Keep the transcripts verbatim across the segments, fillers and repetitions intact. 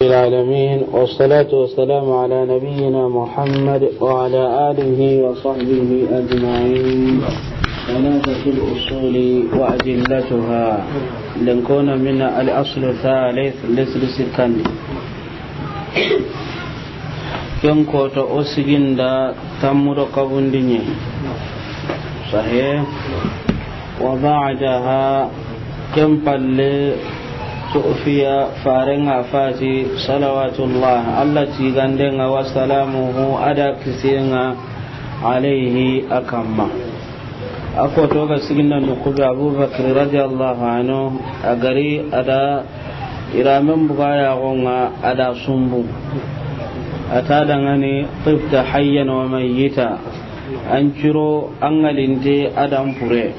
العالمين، والصلاة والسلام على نبينا محمد وعلى آله وصحبه أجمعين. ثلاثة الأصول وأدلتها. Lenkona mina الأصل الثالث, lesiri sikkandi. Ken kota o siginda tammu do kabundi ɲa. Sahih. وبعدها, ken palle, tu'fiya, farenga fati, salawatullah, Allah tigandenga, wa salamuhu, a da kisiyenga, alayhi, a kamma. A koto ga siginda noqu be, Abubakar radiyallahu anhu, a gari a da iramen buga yaxonga, a da sumbu. A ta dangani, tibta hayyan wa mayyita. An ciro, an ŋalinte, a da an pure.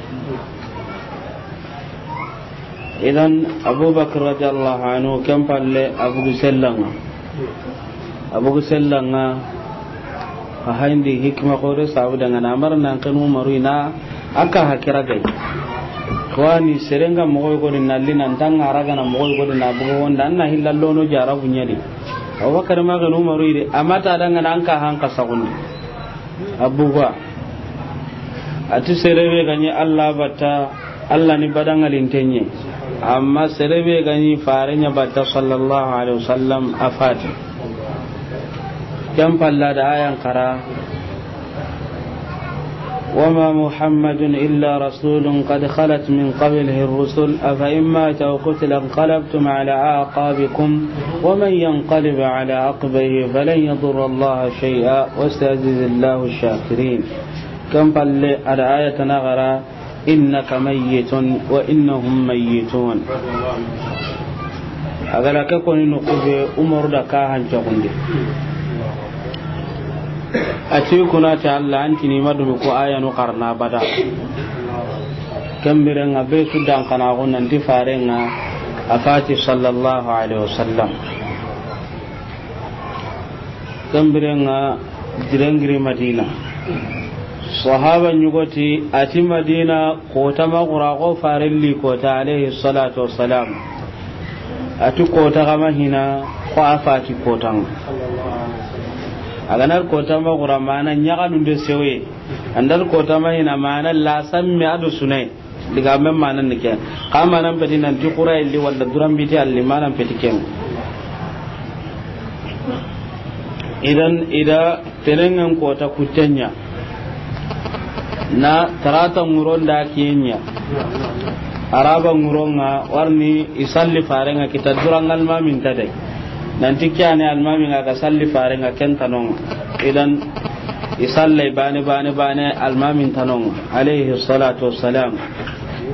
Idan, Abubakar radiyallahu anhu, ken palle, a bugu sellanga. A bugu sellanga, a hayndi hikma xore sabu dangana, a mara nan ken Umaru ina, a ka hakira gay. Xawani serenga moxoy godi nalli nan tanga ragana moxoy godi na bugu wonda, an na hillallono jarabu ɲadi. Abubakar ma ken Umaru ide, a ma ta dangana an ka hanka sagundi. A buga. A ti sere be ga ɲi Allah batta, Allah ni badangalinten ɲa. Amma sere be ga ɲi fare ɲa batta, sallallahu alaihi wasallam, a fati. Ken palla da ayan kara. وما محمد إلا رسول قد خلت من قبله الرسل أفإن مات أو قتل انقلبتم على أعقابكم ومن ينقلب على عقبيه فلن يضر الله شيئا وسيجزي الله الشاكرين. Ken palle a da aya tana gara, إنك ميت وإنهم ميتون. A ga ra ke koni noqu be, Umaru da ka hancaxundi. A ti kuna ti Allah, an ti ni ma dumi ko ayanu xarana bada. Ken birenga be su dan kana go nan ti farenga a fati, sallallahu alaihi wasallam. Ken birenga jirengiri Madina. Sahaba ɲugoti a ti Madina kota ma xura xo farelli kota, alayhi salatu wassalam. A ti kota kama hina xo a fati kotanga. A ga na ri kota ma xura mana ɲaxanunde sewe. An da ri kota ma hina mana la samme a do sunay. Diga men manan ni ken. Xa manan peti nan ti xura illi walla duran biti alli manan peti ken. Idan i da tenengen kota kutten ɲa. Na tarata ŋuron da kiyen ɲa. Araba ŋuronga warni i salli farenga kita duran almamin ta de. Nan ti kiyane almaminga ga salli farenga ken tanonga. Idan i sallay bane, bane, bane, almamin tanonga, alayhi salatu wassalam.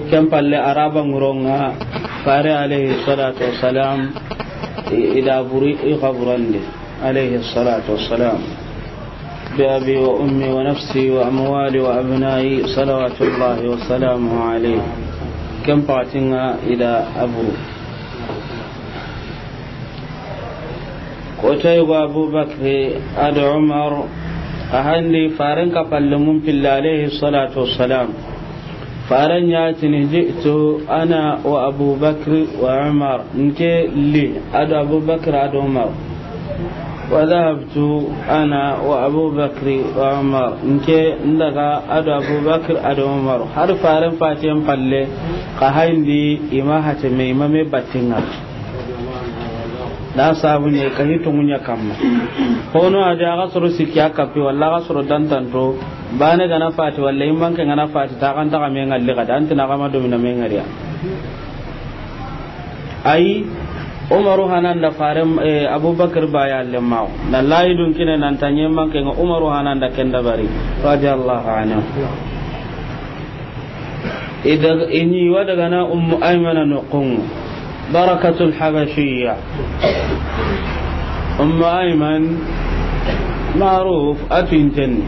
Ken palle araba ŋuronga, fare alayhi salatu wassalam, i, i da buri i xaburandi, alayhi salatu wassalam. بأبي وأمي ونفسي وأموالي وأبنائي صلوات الله وسلامه عليه. Ken patinga i da a buru. Kota yugo Abubakri ado Umar, a handi faren ka palle mun pilla alayhi salatu wassalam. Faren ɲa tini, جئت أنا وأبو بكر وعمر. Nke li ado Abubakar ado Umar. وذهبت أنا وأبو بكر وعمر. Nke ndaga ado Abubakar ado Umar. Har faren fatiyen palle, xa hayndi i ma hate me, i ma me battinga. Da sabu ne ka hi tongunya kamma. Hono a da ga soro sikki a kappi, walla ga soro dantanto, bane ga na fati, walla immanke ga na fati, ta kan ta ga me ngalli ga da, antina ga ma domina me ngariya. Ay, Umaru hananda faren, eh, Abubakar baya lemma. Na layi dun kine nan tanye manke nga Umaru hananda kenda bari, radiyallahu anhu. Ida, ini wa daga na Ummu Aymana noqun. Barakatul Habashiyya. Ummu Ayman, maruf, a tinten.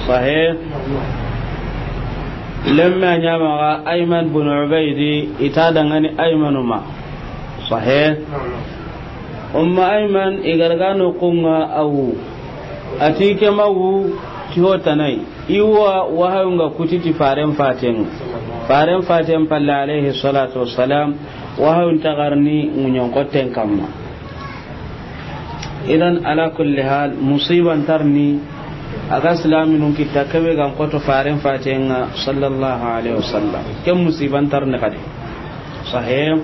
Sahih. Lemme a ɲamaxa Ayman bin Ubaydi, i ta dangani Aymanu ma. Sahih. Umma Ayman i ga daga noqun ŋa a wu. A ti ke ma wu ti ho tanay. I wa wahayun ga kuti ti faren faten. Faren faten palle alayhi salatu wassalam. Wahayun ta ga ri ni ŋuɲon xotten kamma. Idan, ala kulli hal, musiba nta ri ni a ga silaminun kita kebe ga n xoto faren faten ŋa, sallallahu alaihi wasallam. Ken musiba nta ri ni xadi. Sahih.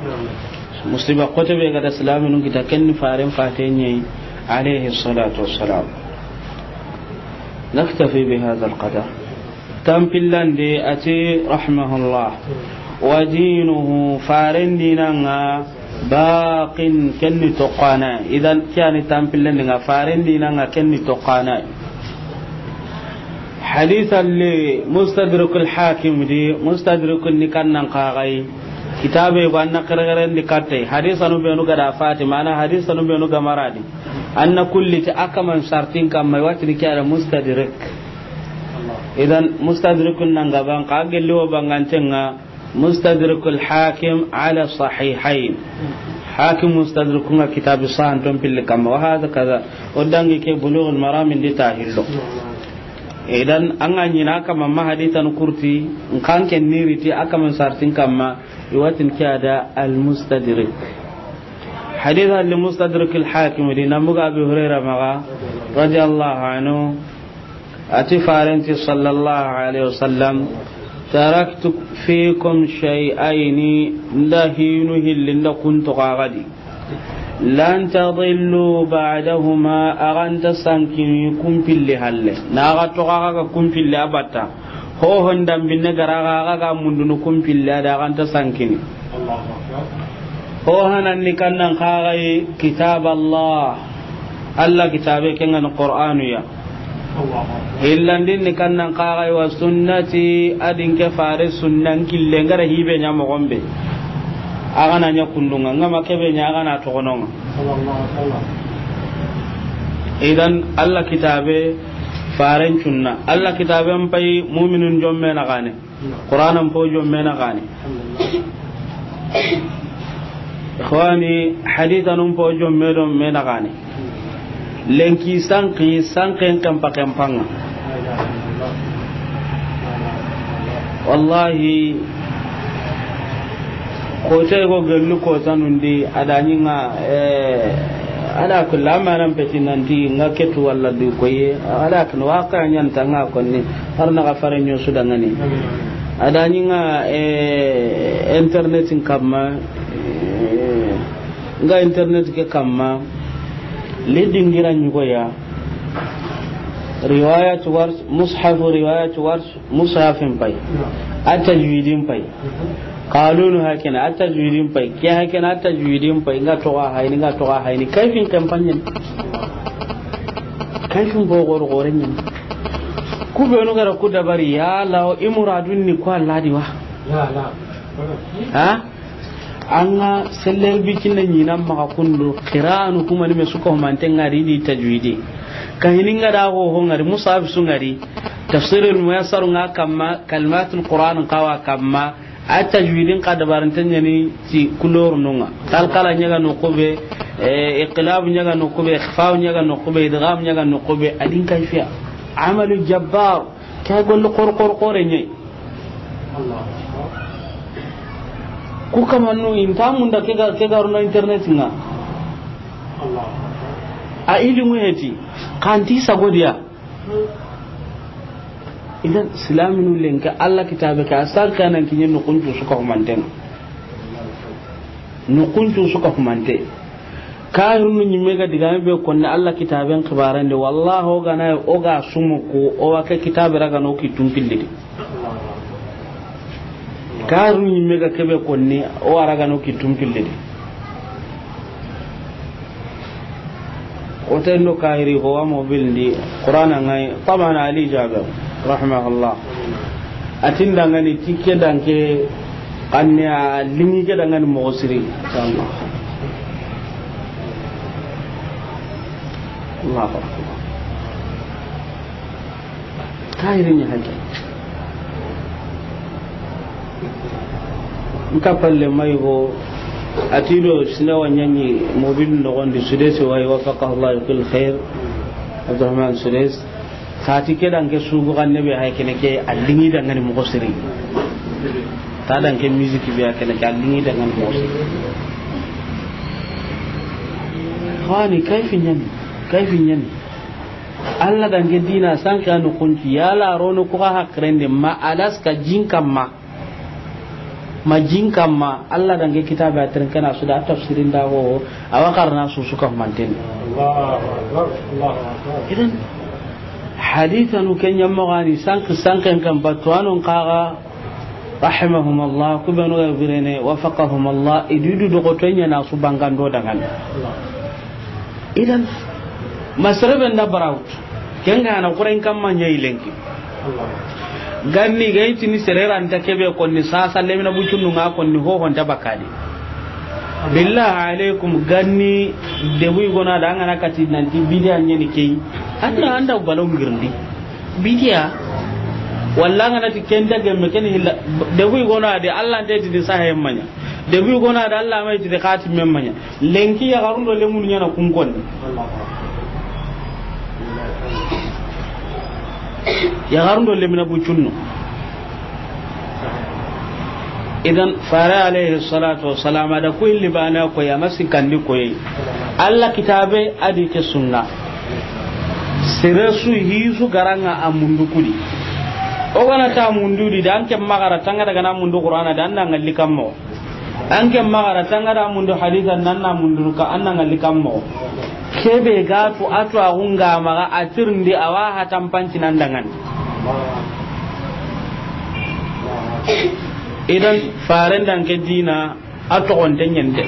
Musiba xote be ga da silaminun kita, ken ni faren faten ɲa yi, alaihi salatu wassalam. نكتفي بهذا القدر. Tanpillande a ti, rahimahullah, wa dinuhu, faren dinan ŋa, baqin, ken ni toxana. Idan, ke ya ni tanpillande ŋa, faren dinan ŋa, ken ni toxana. Hadisa li Mustadrakul Hakim di, Mustadrakun ni kannan kagai. Kitabe ba na xerexeren di katte. Hadisanu benu ga da fati, mana hadisanu benu ga maradi. An na kulli ti a kaman sartin kamma, i wa ti ni ke ya da Mustadrak. Idan, Mustadrakun nan gaban, xa gelli wo banganten ŋa, Mustadrakul Hakim ala Sahihayn. Hakim Mustadrakun ŋa kitabi sahanton pilli kamma, wa hada kaza. O dangi ke Bulughul Maram ndi ta hillo. Idan, an ga ɲi na kamma ma hadisanu kurti, n xa n ken ni riti a kaman sartin kamma, i wa ti ni ke ya da Al Mustadrak. Hadisa li Mustadrakul Hakim di, na buga Abi Hurayra maxa, radiyallahu anhu, a ti faren ti, sallallahu alaihi wasallam, taraktu fikum shay'ayni, n da hinu hilli, n da kun toxo xa di. Lan tadillu ba'dahuma, a ga nta sankini kun pilli halle. Na a ga toxo xa ga kun pilli a batta. Ho hon dambinne ga ra xa ga mundunu kun pilli a da, a ga nta sankini. Ho hanan ni kannan kagai, kitab Allah. Allah kitabe ken ŋa ni Qur'anu ya. Hillandin ni kannan kagai, wa sunnati, a di n ke fare sunnan kille n ga ra hibe ɲa moxon be. A ga na ɲa kundun ŋa, n ga ma kebe ɲa, a ga na toxonon ŋa. Idan, Allah kitabe, faren cunna. Allah kitabe n pay, muminun jomme na gane. Qur'anan po jomme na gane. Ikhwani, hadisanun po jomme do me na gane. Lenki sanki, sanken kempa kempa ŋa. Wallahi, ko te go gellu ko tanundi, a da ɲi ŋa, eh, a da kula manan peti nanti ŋa ketu walla du koye, a da kun waqa ɲan ta ŋa konni, har na ga fare ɲo su da ŋa ni. A da ɲi ŋa, eh, internet in kamma, eh, ŋa internet ke kamma, le dingira ɲugo ya, riwayat Warsh, mushafu riwayat Warsh, mushafin pay, a tajwidin pay. Qalunu hakena, a tajwidin pay. Ke hakena, a tajwidin pay. Nga toga hayni, nga toga hayni. Kayfin kampanye. Kayfin bogor gorenyen. Ku benu gara ku dabari ya lawo i muradun ni ko Allah di wa. Ya Allah. Ha? An ga seller bi kinna ɲinan maxa kundu, qira'anu kuma ni me su ka humante ŋa ri di tajwidi. Ka hini ŋa da ho ho ŋa ri, musaf su ŋa ri, tafsirul muyassar ŋa kamma, kalimatul Qur'an ŋa wa kamma, a tajwidin xa dabaranten ɲa ni ti couleur nu ŋa. Qalqala ɲa ga noqu be, eh, iqlab ɲa ga noqu be, ikhfa ɲa ga noqu be, idgham ɲa ga noqu be, a di n kayfiya. Amalu jabbar, ke golle xor xor xore ɲa yi. Ku kamannu inta munda ke ga, ke ga ro na internet ŋa. A ilimu heti, xa nti sago di ya. Idan, silaminu lenki, Allah kitabe ke, a san kanan kiɲe noqun cu su ka humanten. Noqun cu su ka humante. Kahirunu ɲimme ga digame be konni Allah kitaben xibarande, wallahi o ga na, o ga sumu ko, o wa ke kitabe raga no ki tumpilli di. Kahirunu ɲimme ga kebe konni, o wa raga no ki tumpilli di. O ten do kahiri ko wa mobil ndi Qur'ana ŋa yi, taban Ali Jabir, rahimahullah. A ti n da ŋa ni ti ke danke, xanne a liŋi ke da ŋa ni moxo siri. Inshallah. Allahu akbar. Kahiri ɲa hake. N ka palle mayi go, a ti do sina wa ɲaŋi mobil noxon di, Sudesi wa yi, waffaqahu Allahu li kulli khair, Abdurrahman Sudesi. Xa ti ke danke sugu xanne be hay kene ke a liŋi da ŋa ni moxo siri. Ta danke musique be a kene ke a liŋi dangan moxo su. Xani kayfi ɲani, kayfi ɲani. Alla danke dina sanke anu kunci, yala rono ku xa hakkilende ma Alaska jin kamma. Ma jin kamma, Alla danke kitabe a teren ke na su da tafsirin da go, a wa xarana su su ka manten. Allahu Akbar, Allahu Akbar. Idan, hadithanu ke ɲammo gani, sanke, sanken kan batu anon kaga, rahimahumullah, ku benu ga birene, wafaqahumullah, i du du dogoto ɲa na su bangando dangan. Idan, ma sere be nda barawut, ken ga na kuren kamma ɲa i lenki. Ganni ga i tini sere ra nta kebe konni sasa lemina bucunnu nga konni ho ho nta bakadi. Billahi alaikum, ganni debu i gona da an ga na kati nanti bidiya ɲeni kei. Anda, anda balon girndi. Bidiya. Walla an ga na ti ken da gemme ken hilla. Debu i gona de Alla nte ti di sahe manya. Debu i gona da Alla mai ti di kati mem manya. Lenki yaxarun do lemunu ɲa na kun konni. Yaxarun do lemina bucunnu. Idan, fare alayhi salatu wassalam, a da ku illi bana koyi, a ma sikkandi koyi. Alla kitabe a di ke sunna. Sere su hisu garanga a mundu kudi. O gana ta mundu di, da an ke magara tanga daga na mundu Qur'ana, da an na ngalli kammo. An ke magara tanga da mundu hadisa, nan na mundu ka, an na ngalli kammo. Kebe ga tu a tu a gunga maga a tirndi a wa hatan panci nan dangan. Idan, faren danke dina a togonte ɲende.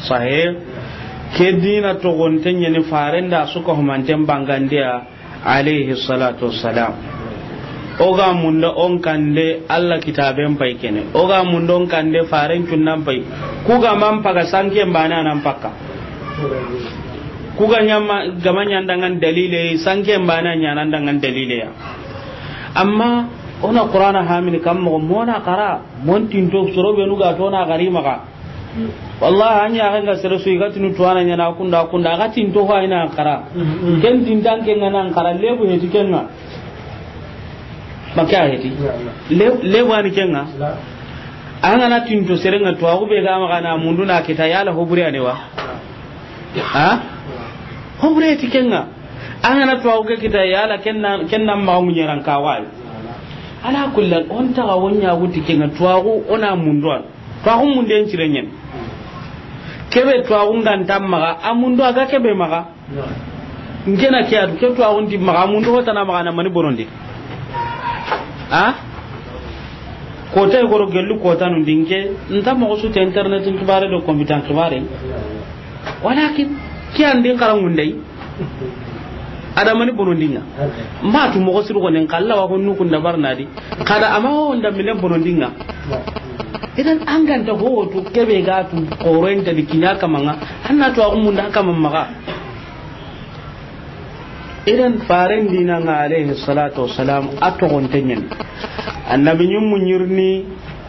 Sahe, ke dina togonte ɲeni faren da su ka humanten bangandiya, alayhi salatu wassalam. O ga munda on kande Alla kitaben pay kene. O ga munda on kande faren cunnan pay. Ku ga man paga sanke mbana nan pakka. Ku ga ɲama, ga ma ɲa an dangan dalile, sanke mbana ɲa nan dangan dalile ya. Amma o na Qur'ana hamini kam mo, mo na xara, mon tinto soro benu ga to na gari maga. Wallahi, an ya ga sere su i ga tinu tuwana ɲa na kunda, kunda, a ga tinto ho a yi na xara. Mm, mm. Ken tintan ke nga na xara, lebu heti ken nga. Maka heti. Ya, ya. Le-, lebu ani ken nga. La. An ga na tinto sere nga tuwaxu be ga maga na mundu na kita yala hobure ane wa. Ha? Hobure heti ken nga. An ga na tuwaxu ke kita yala ken na, ken na maga munyeran kawai. Ala kulli hal, on taga wonya guti ken nga tuwaxu o na mundu an. Tuwaxu munde n cire ɲen. Kebe tuwaxu nga nta maga, a mundu a ga kebe maga. Nke na ke a tu, ke tuwaxu nti maga, a mundu hotana maga na mani bonondi. A? Kota i goro gellu kota nu ndinke, nta moxo su te internet n xibare do computer n xibare. Walakin, ke an din xara ngundai. Adamani bonondinga. Ma tu moxo siru gonen kalla wa honnu kunda barnadi. Kada ama ho nda mine bonondinga. Idan an ganta ho tu kebe ga tu koroen ta di kinya kamanga. Anna to agumunda kamanga. Idan faren dina nga alayhi salatu wassalam a togonte ɲen. Annabi ɲimmu ɲirni.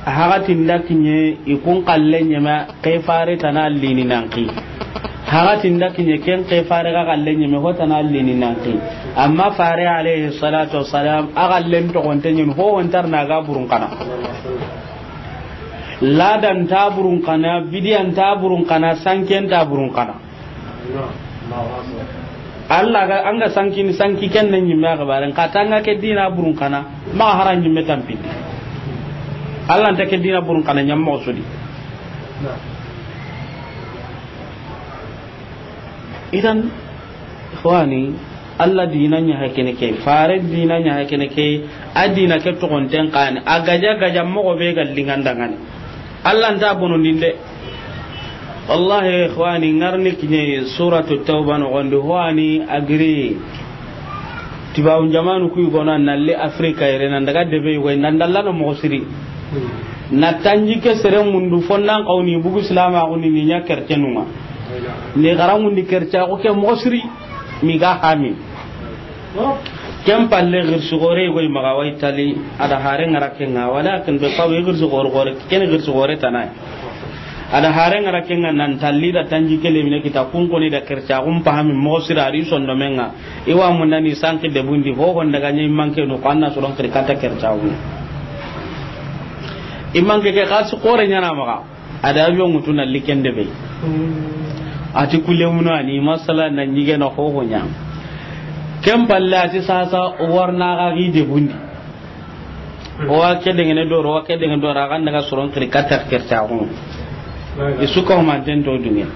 Hagatin da kiɲe i kun xalle ɲeme, ke fare tana lini nanki. Hagatin da kiɲe ken ke fare ga xalle ɲeme, ho tana lini nanki. Amma fare alayhi salatu wassalam, a xallen togonte ɲen, ho hontar na ga burun kana. Ladan ta burun kana, bidiyan ta burun kana, sanken ta burun kana. Allah ga, an ga sanki ni sanki ken ne ɲimme a xibaren, xa tanga ke dina burun kana, ma hara ɲimme tampindi. Allah nta ke dina burun kana ɲammo sudi. Idan, ikhwani, Allah dina ɲa hakene ke, fare dina ɲa hakene ke, a dina ke togonten kani, a gaja gaja mogo be ga lingandangani. Allah nta bonondinde. Wallahi, ikhwani, ngarni kiɲe suratu Tawba nogondi, ho ani agri. Tibawun jamanu kuy gona nalli Afrika yere nan daga debe yugo nan dallano mogo siri. Na tanji ke sere mundu fonnan kawni bugu silama kuni ni ɲa kercenunga. Ni garangundi kerca ko ke mogo siri. Mi ga hami. Ken palle girsi gore goy maga way tali, ada hare ngara kenga, walakin be pawe girsi gore gore, ken girsi gore tanay. Ada hare ngara kenga nan talli da tanji kele mine kita kun koni da kerca kun pahami mo sira ri sondo menga. Iwa mundani sanki de bundi ho honda ga nyi manke no kanna soron kri kata kerca kun. I man ke ke xalisi xoore ɲaana maxa. A da avion ŋutu na li ken debe. A ti kulle munu a ni masala na ɲige na xoxo ɲa. Ken palle a ti sasa o wa ri na xa gi debundi. O wa ke dengene doro, o wa ke dengene doro, a ga n daga soron kiri katta kercaxu. I su ka humanten to duniya.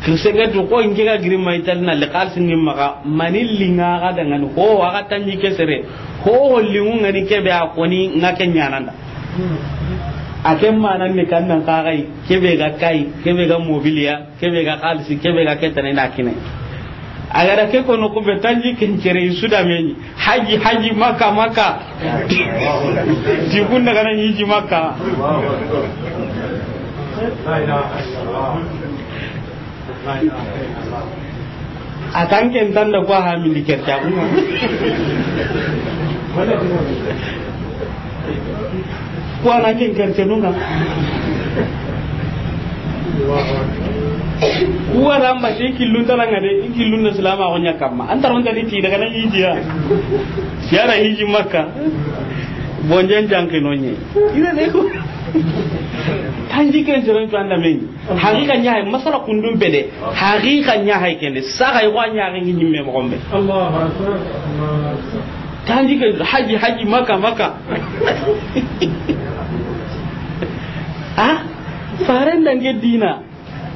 Kirsege tu ko in ke ga giri ma Itali na li xalisi ni maxa, mani linga ga dangani. Ho, a ga tanji ke sere. Ho, ho lingu ngani kebe a koni nga ke ɲaana nda. A ke manan ni kan nan xa ga yi, kebe ga kai, kebe ga mobiliya, kebe ga xalisi, kebe ga ke tana i na kine. A ga da ke kono ku be tanji ken cere i su da meni. Haji, haji, Makka, Makka. Ti kun daga na ɲi ji Makka. A tan ken tan da ko a hamindi kercaxu. Ko a na ken kercenu nga. Ku wa ra n ba te killun tana nga de, i killun na silama ko ɲa kamma. An taron tani ti daga na ɲi ji ya. Siyara ɲi ji Makka. Bonjan janke no ɲe. Ina ne ko. Tanji ken seren to anda men. Haqiqa ɲa hay, masala kundun pede. Haqiqa ɲa hay kende. Saga yi wa ɲa hay ngi ɲimme moxo be. Allahu Akbar. Allahu Akbar. Tanji ke haji, haji, Makka, Makka. Ha? Faren danke dina.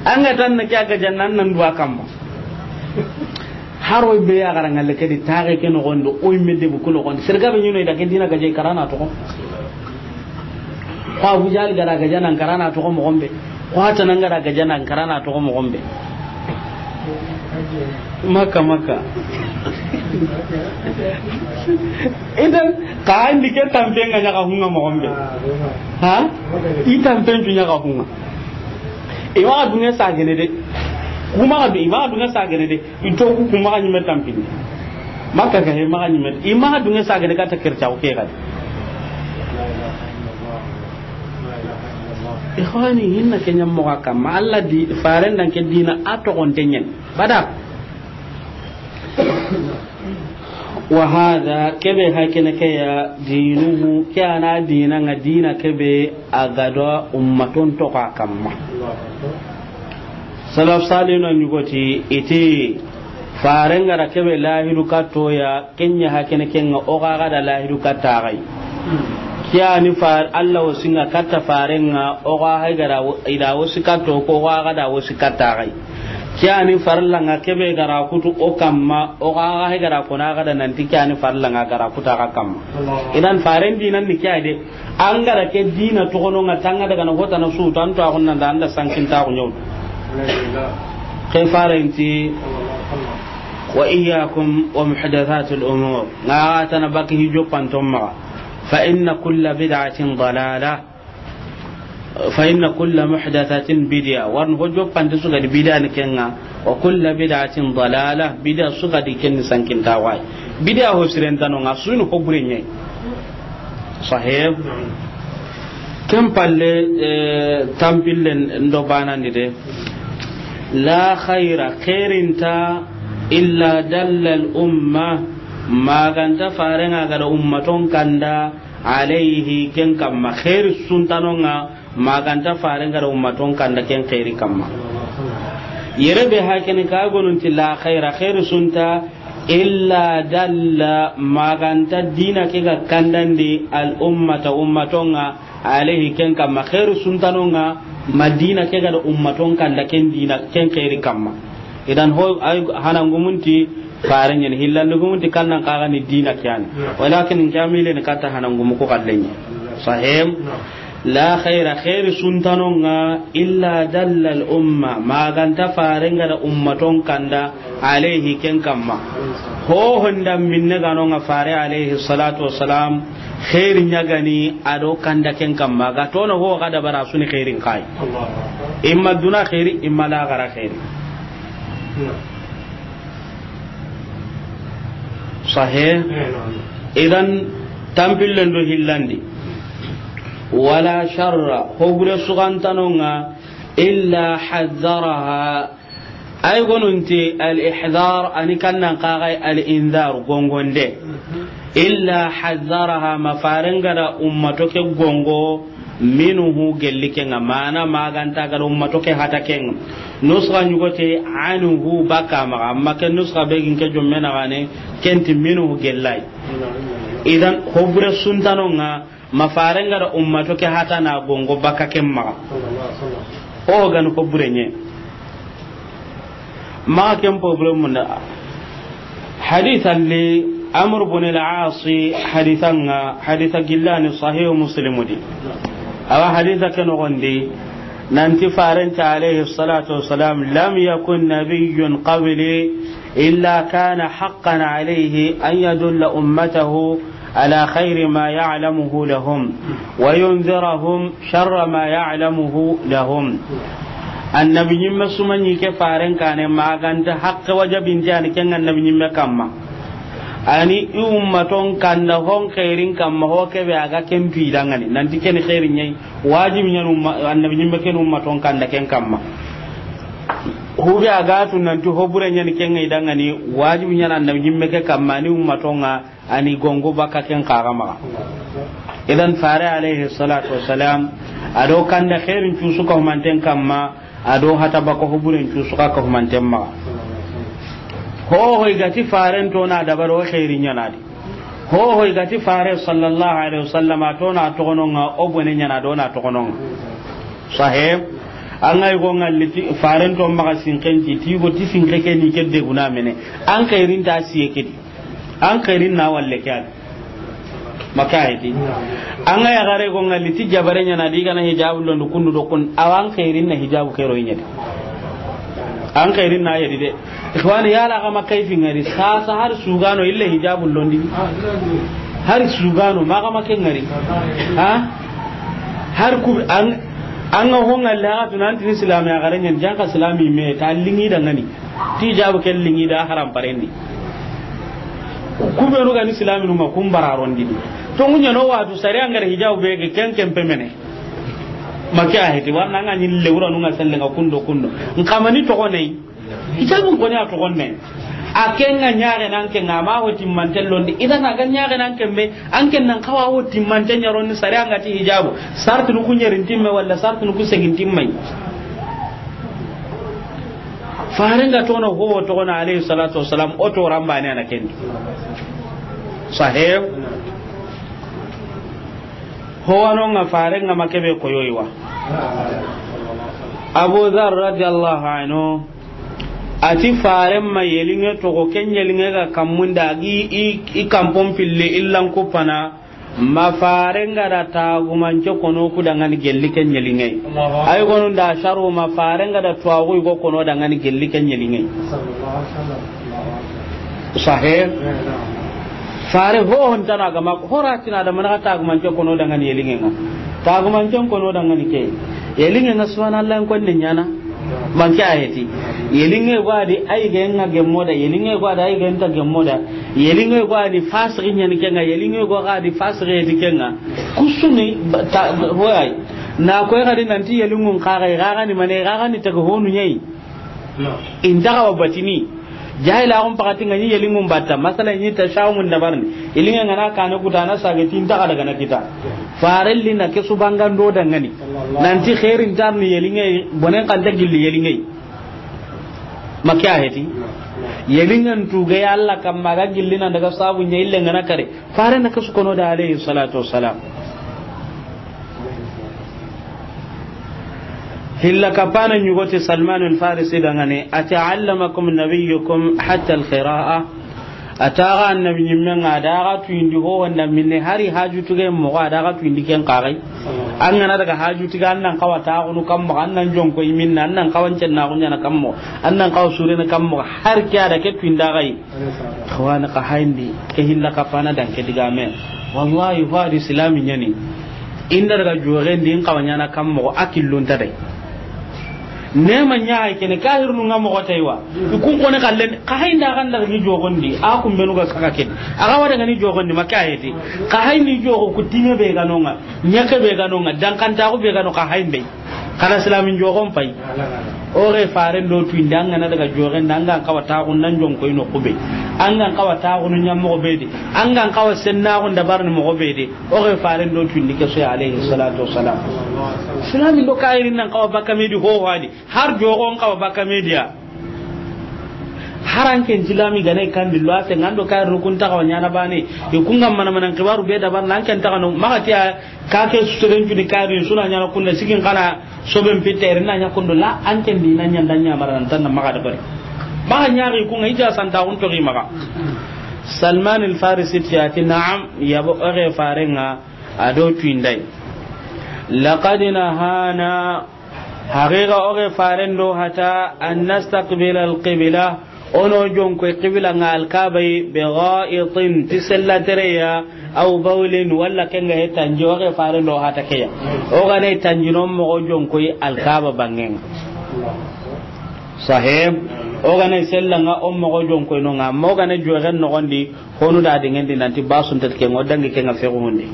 An ga tan na ke a ga janna nan duwa kamma. Haro be ya garanga le ke di taxe ke no gondo, o yimme debu ku no gondo. Serga be ɲino i da ke dina ga je karana to. Ko Abu Jahal ga da gaja nan karana toxo moxo be. Ko Hatana ga da gaja nan karana toxo moxo be. Makka, Makka. Idan, ka andi ke tampe nga ɲaga hunga moxo be. Ha? I tampe ncu ɲaga hunga. I maxa dunge sagene de. Ku maxa du-, i maxa dunge sagene de. I to ku, ku maxa ɲimme tampini. Makka ga he maxa ɲimme. I maxa dunge sagene kata kercaxu ke gadi. Ikhwani, hinna ke ɲammoxo kamma. Alla di, faren danke dina a toxonte ɲen. Bada. Wa hada, kebe hakene ke ya dinuhu, ke a na dina nga dina kebe a ga do ummaton toxo kamma. Salaf salinu ɲugoti iti, faren ga da kebe lahidu katto ya, ken ɲa hakene ke nga o ga ga da lahidu katta xa yi. Ke a ni fa-, Alla wasi nga katta faren nga, o ga hay ga da wo-, i da wasi katto ko o ga ga da wasi katta xa yi. Ke a ni farla nga kebe ga da kutu o kamma, o ga ga hay ga da ko na ga da nanti ke a ni farla nga ga da kuta xa kamma. Idan faren dinan ni ke a de. An ga da ke dina toxono nga tanga daga na hota na su tan to a xunna da anda sankin ta ko ɲew. Ke farenti, wa iyyakum wa muhdathatil umur. Nga tana baki hijo pantom ma. Fa inna kulla bid'atin dalala. Fa inna kulla muhdathatin bid'a. Warni hojo pante su ga di bid'a ni kenga. Wa kulla bid'atin dalala. Bid'a su ga di ken sankin ta way. Bid'a ho sirentano nga sunu ho bure ɲe. Sahih. Ken palle, eh, tampillen do banandi de. La khayra, khairinta, illa dalla al umma, maganta farenga ga da ummaton kanda, alayhi, ken kamma. Khairi suntanonga, maganta farenga da ummaton kanda ken khairi kamma. Yere be hakene ka gonunti la khayra, khairi sunta, illa dalla, maganta dina ke ga kandandi al ummata, ummatonga, alayhi, ken kamma. Khairu suntanonga, ma dina ke ga da ummaton kanda ken dina, ken khairi kamma. Idan ho, ay, hanangumunti farenyen, hillandugumunti kannan kaga ni dina kiyani. Walakin kamile ni kata hanangumu ko kallenye. Sahim. La khayra, khairu suntanonga, illa dalla al umma, maganta farenga da ummaton kanda, alayhi, ken kamma. Ho honda minne ganonga fare alayhi salatu wassalam, khairi ɲagani a do kanda ken kamma. Ga tono ho ga da bara suni khairin kai. Imma duna khairi, imma laxara khairi. Sahih. Idan tampillen do hillandi. Wala sharra, ho gure sugantanonga, illa hazzaraha, ay gonunti al-ihzar, ani kannan kagai al-inzar, gongonde. Illa hazzaraha, ma farenga da ummato ke gongo, Minhu gelli ke ŋa, mana ma ga nta ga da ummato ke hata ke ŋa. Nusxa ɲugote anhu baka maxa, amma ke nusxa be gi n ke jomme na gane, ken ti minhu gellay. Idan, hobure suntano ŋa, ma faren ga da ummato ke hata na gongo baka ken maxa. O ga ni hobure ɲe. Maxa ken problème nda. Hadisa li Amr bin al-As, hadisa ŋa, hadisa gillani Sahih Muslim di. Awa hadisa ke noxon di, nanti farenta alayhi salatu wassalam, lam yakun nabiyyun qabli illa kana haqqan alayhi an yadulla ummatahu ala khayri ma ya'lamuhu lahum wa yunzirahum sharra ma ya'lamuhu lahum. Annabi ɲimme su ma ɲi ke faren kane ma ga nta haqqe wajabinte yani ken annabi ɲimme kamma. Ani i ummaton kanda hon xeerin kamma ho ke be a ga ken tu i da ŋa ni. Nanti ken xeerin ɲa yi, wajibi ɲa ni umma, annabi ɲimme ken ummaton kanda ken kamma. Hu be a ga tu nanti hobure ɲa ni ken ŋa i da ŋa ni, wajibi ɲa ni annabi ɲimme ke kamma ni ummaton ŋa. Ani gongo baka ken kaga maxa. Idan fare alayhi salatu wassalam, a do kanda xeerin cusu ka humanten kamma, a do hata baka huburen cusu ka ka humanten maxa. Ho ho i ga ti faren to na dabaro xeerin ɲa na di. Ho ho i ga ti fare sallallahu alayhi wasallam to na toxono ŋa o bone ɲa na do na toxono ŋa. Sahib, an ga i go ŋalli ti faren to maxa sinken ti, ti go ti sinke ke ni ke de guna mene. An xeerin ta siye ke di. An xeerin na walle ke a di. Maka heti. An ga ya gare go ŋalli ti jabare ɲa na di ga na hijabu londi kundu do kun, awa an xeerin na hijabu ke ro i ɲa di. An xeerin na ya di de. Ikhwani, yala xa ma kayfi ŋari, sasa har sugano ille hijabu londi. Har sugano, ma xa ma ke ŋari. Ha? Har ku an, an ga ho ŋalli xa tu nanti ni silami ya gare ɲa ni, janka silami me ta lingi da ŋa ni. Ti jabu ke lingi da haram parendi. Ku be nu ga ni silami nu ma kun bararondi. To ŋu ɲa no watu sari an gare hijabu be ke ken ken pemene. Maka heti, warna ŋa ni lewra nu ŋa selle ŋa kundo kundo. N xa ma ni toxo ne. Hijabun koni a toxon ne. A ken ŋa ɲaxe nan ken ŋa ma ho timmanten londi. Idan a ga ɲaxe nan ken be, an ken nan xawa ho timmanten ɲa ro ni sari an ga ti hijabu. Sartu nu ku ɲerin timme wala sartu nu ku segin timme. Faren ga tono ho toxo na alayhi salatu wassalam, o to ramba ne ana ken. Sahib. Ho wano ŋa faren ŋa ma ke be koyoyi wa. Abu Dhar radiyallahu anhu, a ti faren ma yelinge toxo, ken yelinge ga kammun da gi i, i kampon pille illan kupana, ma faren ga da tagumance kono ku da ŋa ni gelli ken yelinge. Ay gonu da sharu ma faren ga da tuwaxu i go kono da ŋa ni gelli ken yelinge. Sahe. Fare ho hon tana ga ma hora tina da mana tagumance kono da ŋa ni yelinge ŋa. Tagumance kono da ŋa ni ke. Yelinge ŋa subhanallah ko ne ɲana. Manke a heti. Yelinge go a di ay ga ŋa gemmo da. Yelinge go a di ay ga nta gemmo da. Yelinge go a di fasiki ɲa ni ke ŋa. Yelinge go a di fasiki heti ke ŋa. Kusuni ba-, ta, hoy. Na ko ga di nanti yelingun xa ga, ga ni mane, ga ni taga honu ɲai. Inta ga wa batini. Jahila on pakati ŋa ni yelingun batta. Masala ni ta shawmun dabarni. Yelinge ŋa na kane kutana sage ti inta ga daga na kita. Farelli na ke su bangando da ŋa ni. Nanti khairin tarni yelinge, bonen kanta gilli yelinge. Maka heti. Yelingen tu ga ya Allah kamma ga gilli nan daga sabu ɲa ille ŋa na kare. Fare na ke su kono da alayhi salatu wassalam. Hilla kapana ɲugoti Salman al-Farisi da ŋa ni, a ti allamakum nabiyyukum hatta al-qira'a. A taga annabi ɲimme ŋa, a daga tuyindi ho wanda minne hari haju tuge moxo, a daga tuyindi ken kaxay. An ga na daga haju tuge, an nan xawa taxunu kam moxo, an nan jonko i minna, an nan xawa ncennaxu ɲana kam moxo, an nan xawa surene kam moxo, har ke a da ke tuyinda xay. Xawani xa hayindi, ke hilla kapana dan ke digame. Wallahi, ho a di silami ɲa ni. Inda daga joxendi, in xawa ɲana kam moxo, a killunta day. Nema ɲa hay kene, kahirnu ŋa moxo tay wa. I kun kone xallen, xa hayinda xa nda gi joxondi, a kun benu ga saga ken. A ga wada ga ni joxondi, maka heti. Xa hayindi joxo ku time be ga no ŋa, ɲa ke be ga no ŋa, dankantaxu be ga no xa hayinde. Xana silamin joxon pay. O xe faren do tuwindi, an ga na daga joxen da, an ga n xawa taxun nan jonko i noxu be. An ga n xawa taxunu ɲa moxo be di. An ga n xawa sennaxun dabarini moxo be di. O xe faren do tuwindi ke soyi, alayhi salatu wassalam. Silamin do kayirin nan xawa bakka me di ho ho a di. Har joxon xawa bakka me di ya. Har an ken silami gane kandi lo a se ngando kayir rukun taxawa ɲana bane. I kunga mana mana xibaru be dabar nan ken taxano maxa ti a. Ka ke seren cuni kari suna ɲana kunna sigin kana soben pitere na ɲa kundo la, an ken di na ɲanda ɲa mara nan tan maxa da bari. Maxa ɲari kunga ija santa kun to gi maxa. Salman al Farisi ti a ti: "Na'am, yabo, o xe farenga a do tuwindai. Laqad nahana, haqiqa o xe faren do hata, an nastaqbila al qibla, o na o jonkoy qibla nga Alkaba yi, bi gha'itin, ti sella tereya, aw bawlin, walla kenga he tanji, o xe faren do hata keya. O ga na tanji no moxo jonkoy Alkaba bangenga." Sahib, o ga na sella nga o moxo jonkoy no nga, mo ga na joxen noxondi, honu da dengendi nanti basun tat kenga, o dangi kenga fexu hundi.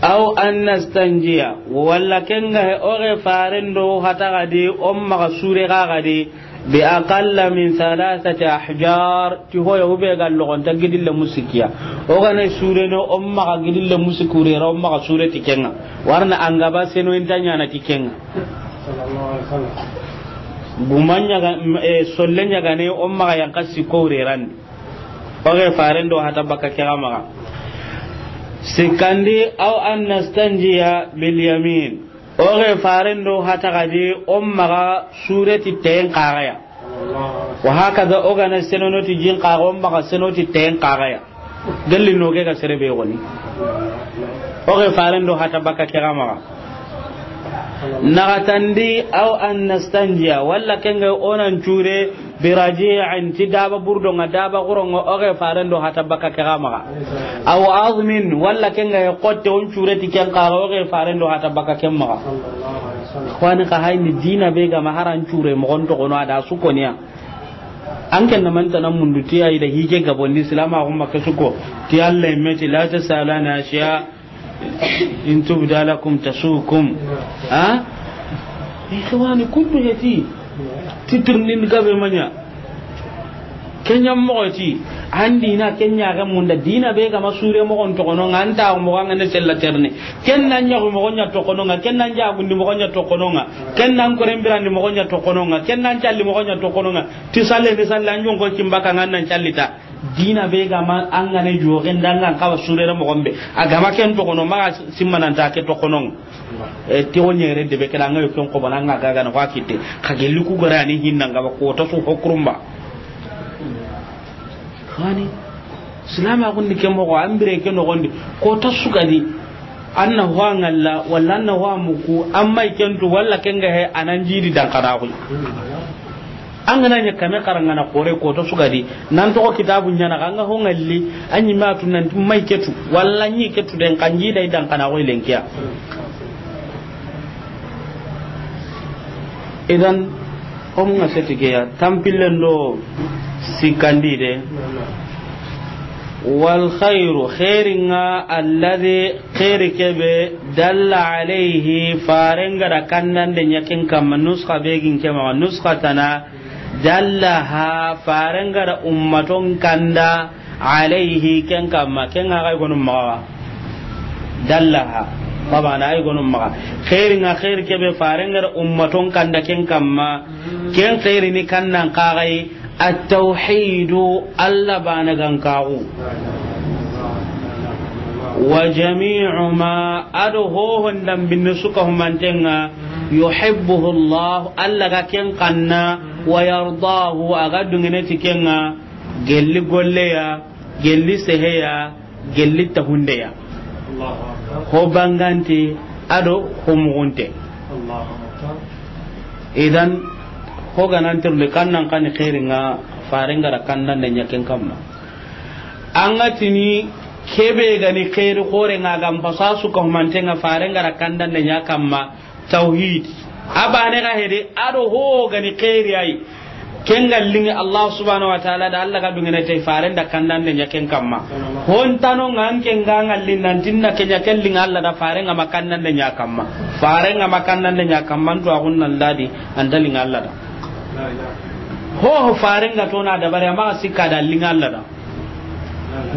Aw an nastanjiya, walla kenga he o xe faren do hata gadi, o maxa sure ga gadi, bi aqalla min thalathati ahjar, ti hoya hube ga logonta gidille musikiya. O ga na sure no, o maxa gidille musikure ra, o maxa sure ti kenga. Warna angaba seno inta ɲana ti kenga. Gumanya ga, e, solle ɲagane, o maxa yanka sikko ure randi. O xe faren do hata bakka ke ga maxa. Sikkandi, aw an nastanjiya bil yamin. O xe faren do hata gadi, o maxa sure ti ten kaxaya. Wa hakaza, o ga na senono ti jin kaxa, o maxa seno ti ten kaxaya. Gelli no ke ga sere be goni. O xe faren do hata bakka ke ga maxa. Naxatandi, aw an nastanjiya, walla kenga o nan cure, bi raji'in, ti daba burdo nga, daba guro nga, o xe faren do hata bakka ke ga maxa. Aw azmin, walla kenga he xotte, o n cure ti ken kaxa, o xe faren do hata bakka ken maxa. Xwani, xa hayni dina be ga ma haran cure moxon toxono a da su koniya. An ken na mantana mundu ti ayi da hije gabondi silama xumma ke suko. Ti Allah meti la tasalana ashiya in tubda lakum tasukum. Ha? Ikhwani, kuntu heti. Titirnin gabe manya. Kenya moxo ti, an dina kenya ga munda dina be ga ma sure moxon toxono nga, anta moxo nga ne sella terne. Ken nan ɲa moxo ɲa toxono nga, ken nan jagundi moxo ɲa toxono nga, ken nan korembirandi moxo ɲa toxono nga, ken nan calli moxo ɲa toxono nga. Ti salle ni salle an jonko kimbaka nga nan callita. Dina be ga ma an ga ne joxen da nga xawa surere moxon be. A ga ma ken toxono maxa simmananta ke toxono nga. E, ti o ɲere de be kala nga yo ken ko bana nga ga ga na wa kitte. Xa gelli ku gara ni hinna nga ba ko ta su hokurumba. Xwani, silama gundi ke moxo, an bire ke noxondi, ko ta sugadi, an na ho a ŋalla, walla an na ho a muku, an ma i kentu, walla kenga he, a nan jidi dankana xoy. An ga na ɲa kame xarangana xore, ko ta sugadi, nan toxo kitabu ɲana, an ga ho ŋalli, an ɲi ma tu nan ma i ketu, walla ɲi ketu den, kan jida i dankana xoy lenkiya. Idan, hom nga seti ke ya, tampillen do sikkandi de. Wal khairu, khairin ŋa, alladhi, khairi kebe, dalla alayhi, faren ga da kandande ɲa ken kamma, nuskha be gin ke maxa, nuskha tana, dallaha, faren ga da ummaton kanda, alayhi, ken kamma, ken ŋa ga i gonu maxa. Dallaha, baba na i gonu maxa. Khairin ŋa, khairi kebe, faren ga da ummaton kanda ken kamma. Ken khairi ni kannan kagai, at-tawhidu, Allah bana gankaxu. Wa jami'u ma, ado hohon dambinne suka humantenga, yuhibbuhu Allah, Allah ga ken kanna, wa yardahu, a ga dungene ti kenga, gelli golleya, gelli seheya, gelli tahundeya. Ho bangante, ado ho mugunte. Idan, ho ganantirle kannan kani khairin ŋa, faren ga da kandande ɲa ken kamma. An ga tini kebe gani khairi xoren ŋa, gam pasa suka humantenga, faren ga da kandande ɲa kamma, tawhid. A bane ga hede, ado ho gani khairi ay. Ken ga liŋi Allah subhanahu wa ta'ala da, Allah ga duŋene ti faren da kandande ɲa ken kamma. Hontano ŋa an ken ga ŋa liŋi nan ti na ken ɲa ken liŋi Allah da, faren ŋa ma kandande ɲa kamma. Faren ŋa ma kandande ɲa kamma, an tu a gunnan dadi, an da liŋi Allah da. Ho, ho faren ga tona dabari, a maxa sikka da liŋi Allah da.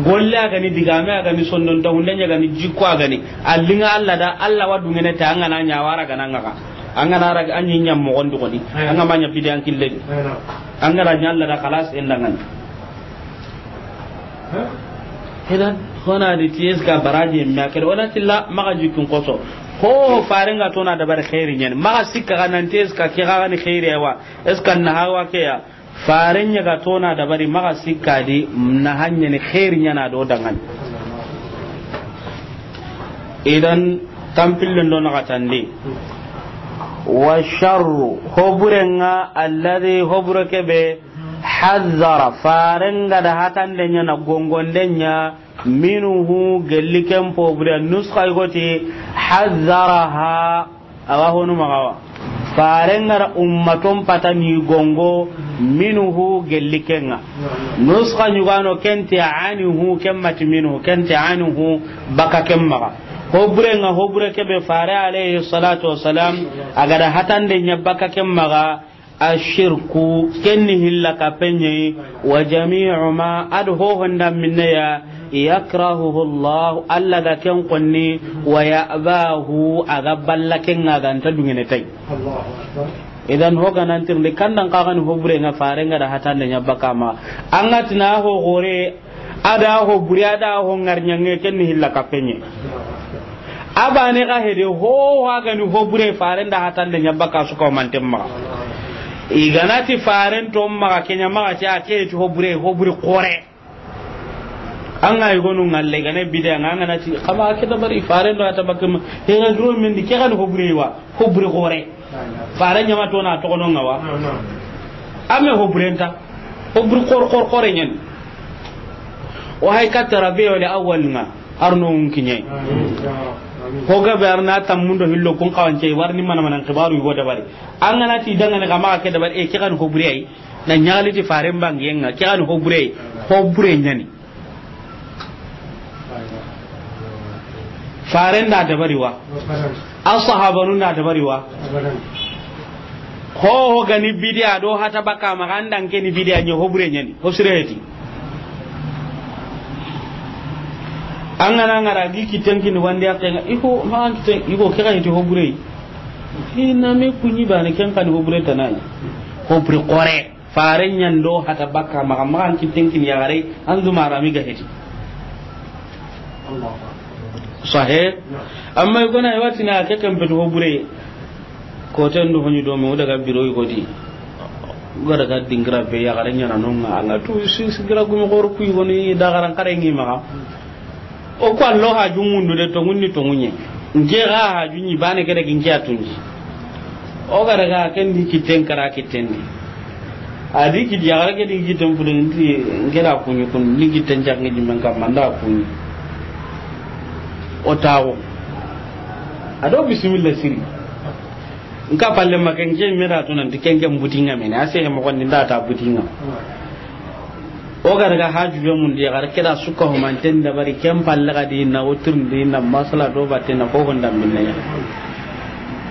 Golle a ga ni, digame a ga ni, sondon ta hunde ɲa ga ni, jikko a ga ni, a liŋi Allah da, Allah wa duŋene ti an ga na ɲa wara ga na ŋa ga. An ga na ra an ɲi ɲa moxon di xoni. An ga ma ɲa bidiyan kille di. An ga ra ɲa Allah da, xalas, en da ŋa ni. Idan, hona di ti est-ce que baraji me a kere, wala tilla maxa jikkun koso. Ho, faren ga tona dabari xeeri ɲa ni. Maxa sikka ga nan ti est-ce que ke ga ni xeeri wa, est-ce que na hawa ke ya. Faren ɲa ga tona dabari, maxa sikka di na hanya ni xeeri ɲa na do da ŋa ni. Idan, tampillen do na xatandi. Wa sharru, ho bure ŋa, alladhi, ho bure ke be, hazzara, faren ga da hatande ɲa na gongonde ɲa, minhu, gelli ken ho bure, nuskha i go ti, hazzaraha, a wa honu maxa wa. Faren ga da ummaton patani gongo, minhu, gelli ken ŋa. Nuskha ɲugano ken ti anhu, ken ma ti minhu, ken ti anhu, baka ken maxa. Ho bure ŋa, ho bure ke be fare alayhi salatu wassalam, a ga da hatande ɲa baka ken maxa, ashirku, ken ni hilla kappe ɲa yi, wa jami'u ma, a do ho honda minne ya, yakrahuhu Allah, Allah ga ken konni, wa ya'bahu, a ga balla ken ŋa, a ga nta duŋene ti a yi. Idan, ho ga nan tirindi, kandan xa ga ni ho bure ŋa, faren ga da hatande ɲa baka ma. An ga ti na ho gore, a da ho bure, a da ho ŋari ɲaŋe, ken ni hilla kappe ɲa yi. A bane ga hede, ho, ho a ga ni ho bure, faren da hatande ɲa baka su ka o manten maxa. I ga na ti faren to maxa, ke ɲa maxa ti a ke ti ho bure, ho bure xore. An ga i gonu ŋalle, i ga na bidiya ŋa, an ga na ti, xa ma ke dabari, faren do hata baka ma, he ga duro men di, ke ga ni ho bure wa, ho bure xore. Faren ɲa ma tona toxono ŋa wa. A me ho bure nta. Ho bure xor, xor, xore ɲa ni. O hay katta Rabiul Awwal ŋa, arno un kiɲe. Ho ga be arna tammundo hillo kun xawance, warni mana mana xibaru i go dabari. An ga na ti dangane xa maxa ke dabari, e, ke ga ni ho bure yi. Na ɲaxali ti faren bangiyen ŋa, ke ga ni ho bure yi, ho bure ɲa ni. Faren da dabari wa? Asahabanun da dabari wa? Ho, ho ga ni bidiya do hata baka maxa, an da ke ni bidiya ɲa, ho bure ɲa ni, ho sire heti. An ga na ŋara gi kitten kini wandi a ke ŋa, i ko, ma an kitten, i ko, ke ga heti ho bure yi. Hi na me kuɲi bane, ken xa ni ho bure tana yi. Ho bure xore. Faren ɲa n do hata baka maxa, maxa an kitten kini yaxare, an du marami ga heti. Sahe. Amma i gona i wa ti na ke ken petu ho bure. Ko ten do honi do me, o daga biro i go di. O ga daga dingira be yaxare ɲa na no ŋa, a ŋa tu si, sigira gumi xoro ku i go ni da garan xare ŋi maxa. O ko allo haju mundu de, tonŋun ni tonŋu ɲa. Nke ga haju ɲi bane ke daga nke a tunji. O ga daga ken di kitten kara kitten di. A di kiti yaxare ke di kitten fude nti nke da kuɲi kun, ni kitten jaŋe di men kamma nda kuɲi. O tawo. A do bismillah siri. Nka palle ma ken ke me da to nan ti ken ke buti ŋa mene, a se he mo kon nda ta buti ŋa. O ga daga haju be mun di, ga da ke da su ka ho manten dabari, ken palle ga di na o tirindi na masala do batte na ho honda minne ya.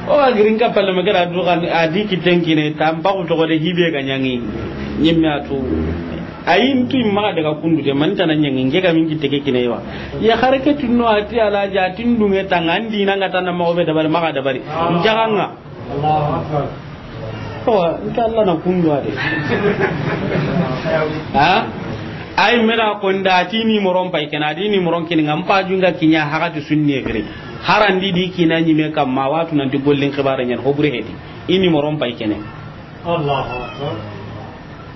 O ga giri nka palle ma ke da du kan a di kitten kine, tampa ku to de hibe ga ɲaŋi. Ɲimme a tu. Ayi, ntu maxa daga kundu de, man tana ɲaŋi, nke ga min kitte ke kine wa. Yaxare ke tunno a ti Alaaji, a ti n duŋe tanga, n di na ŋa tana maxa be dabari, maxa dabari. N jaga ŋa. Awa, nke Alla na kundu a de. Ha? Ay, me da ko nda ti ni moron pay kena, di ni moron kini ŋa, mpa junga kiɲa haxa ti sunne gere. Harandi di kina ɲime kamma, watu nan ti gollin xibaare ɲan, ho bure heti. I ni moron pay kene. Allahu Akbar.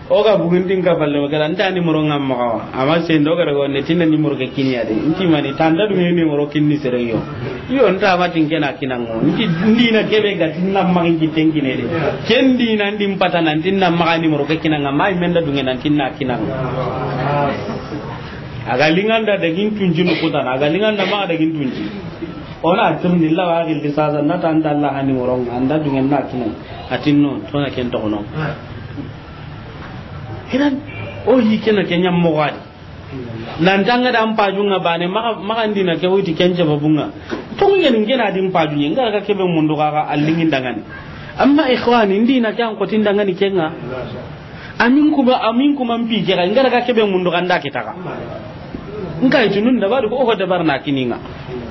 O ga bugundin ka falle, o ga nta ni moro ŋa maxa wa. Amma sendo ga daga ne tinna ni moro ke kini ya de. Nti mani tanda du ni moro kini sere yo. Yo nta ma tin kena kina ŋo. Nti ndi na kebe ga tinna ma ngi tenkine de. Ken di na ndi mpata na tinna ma ni moro ke kina ŋa, ma menda du nan tinna kina ŋa. A ga linganda da gin tunji no kutana, a ga linganda ma da gin tunji. Ona tirni la wa gil sasa na tanda Allah hani moro ŋa, anda du na kina. Atinno to na ken to no. Kiran, o yi kena kenya mogadi. Nan tanga da mpajunga bane, maka, maka ndina ke wuti kenche babunga. Tongu ɲani ngena di mpajunye, ngara ka kebe mundu kaka alingin dangani. Amma ikhwani, ndina ke an kotin dangani kenga. Amin kuma, amin kuma mpi kera, ngara ka kebe mundu kanda kitaka. Nka itunun da bari ko o dabar na kininga.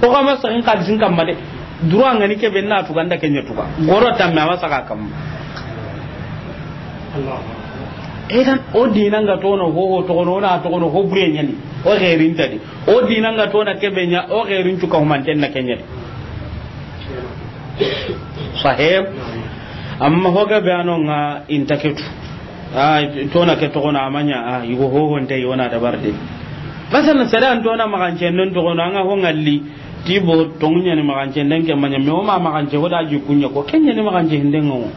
O kama sa in kadisin kamma de. Duro angani kebe na tuga nda kenya tuga. Goro tamme ama saka kam. Idan o dina nga tono ho, ho togono na togono ho bure ɲani. O xerin tadi. O dina nga tona kebe ɲa, o xerin cuka humanten na kenya. Sahib. Amma hoga be anonga intaketu. A tona ke togono amanya, a yugo ho honte yona dabarde. Pasal sere an tona magancen non togono anga ho ngalli. Tibo tongunya ni magance nden ke manya, me o ma magance ho da ji kunya ko kenya ni magance hinde ngo.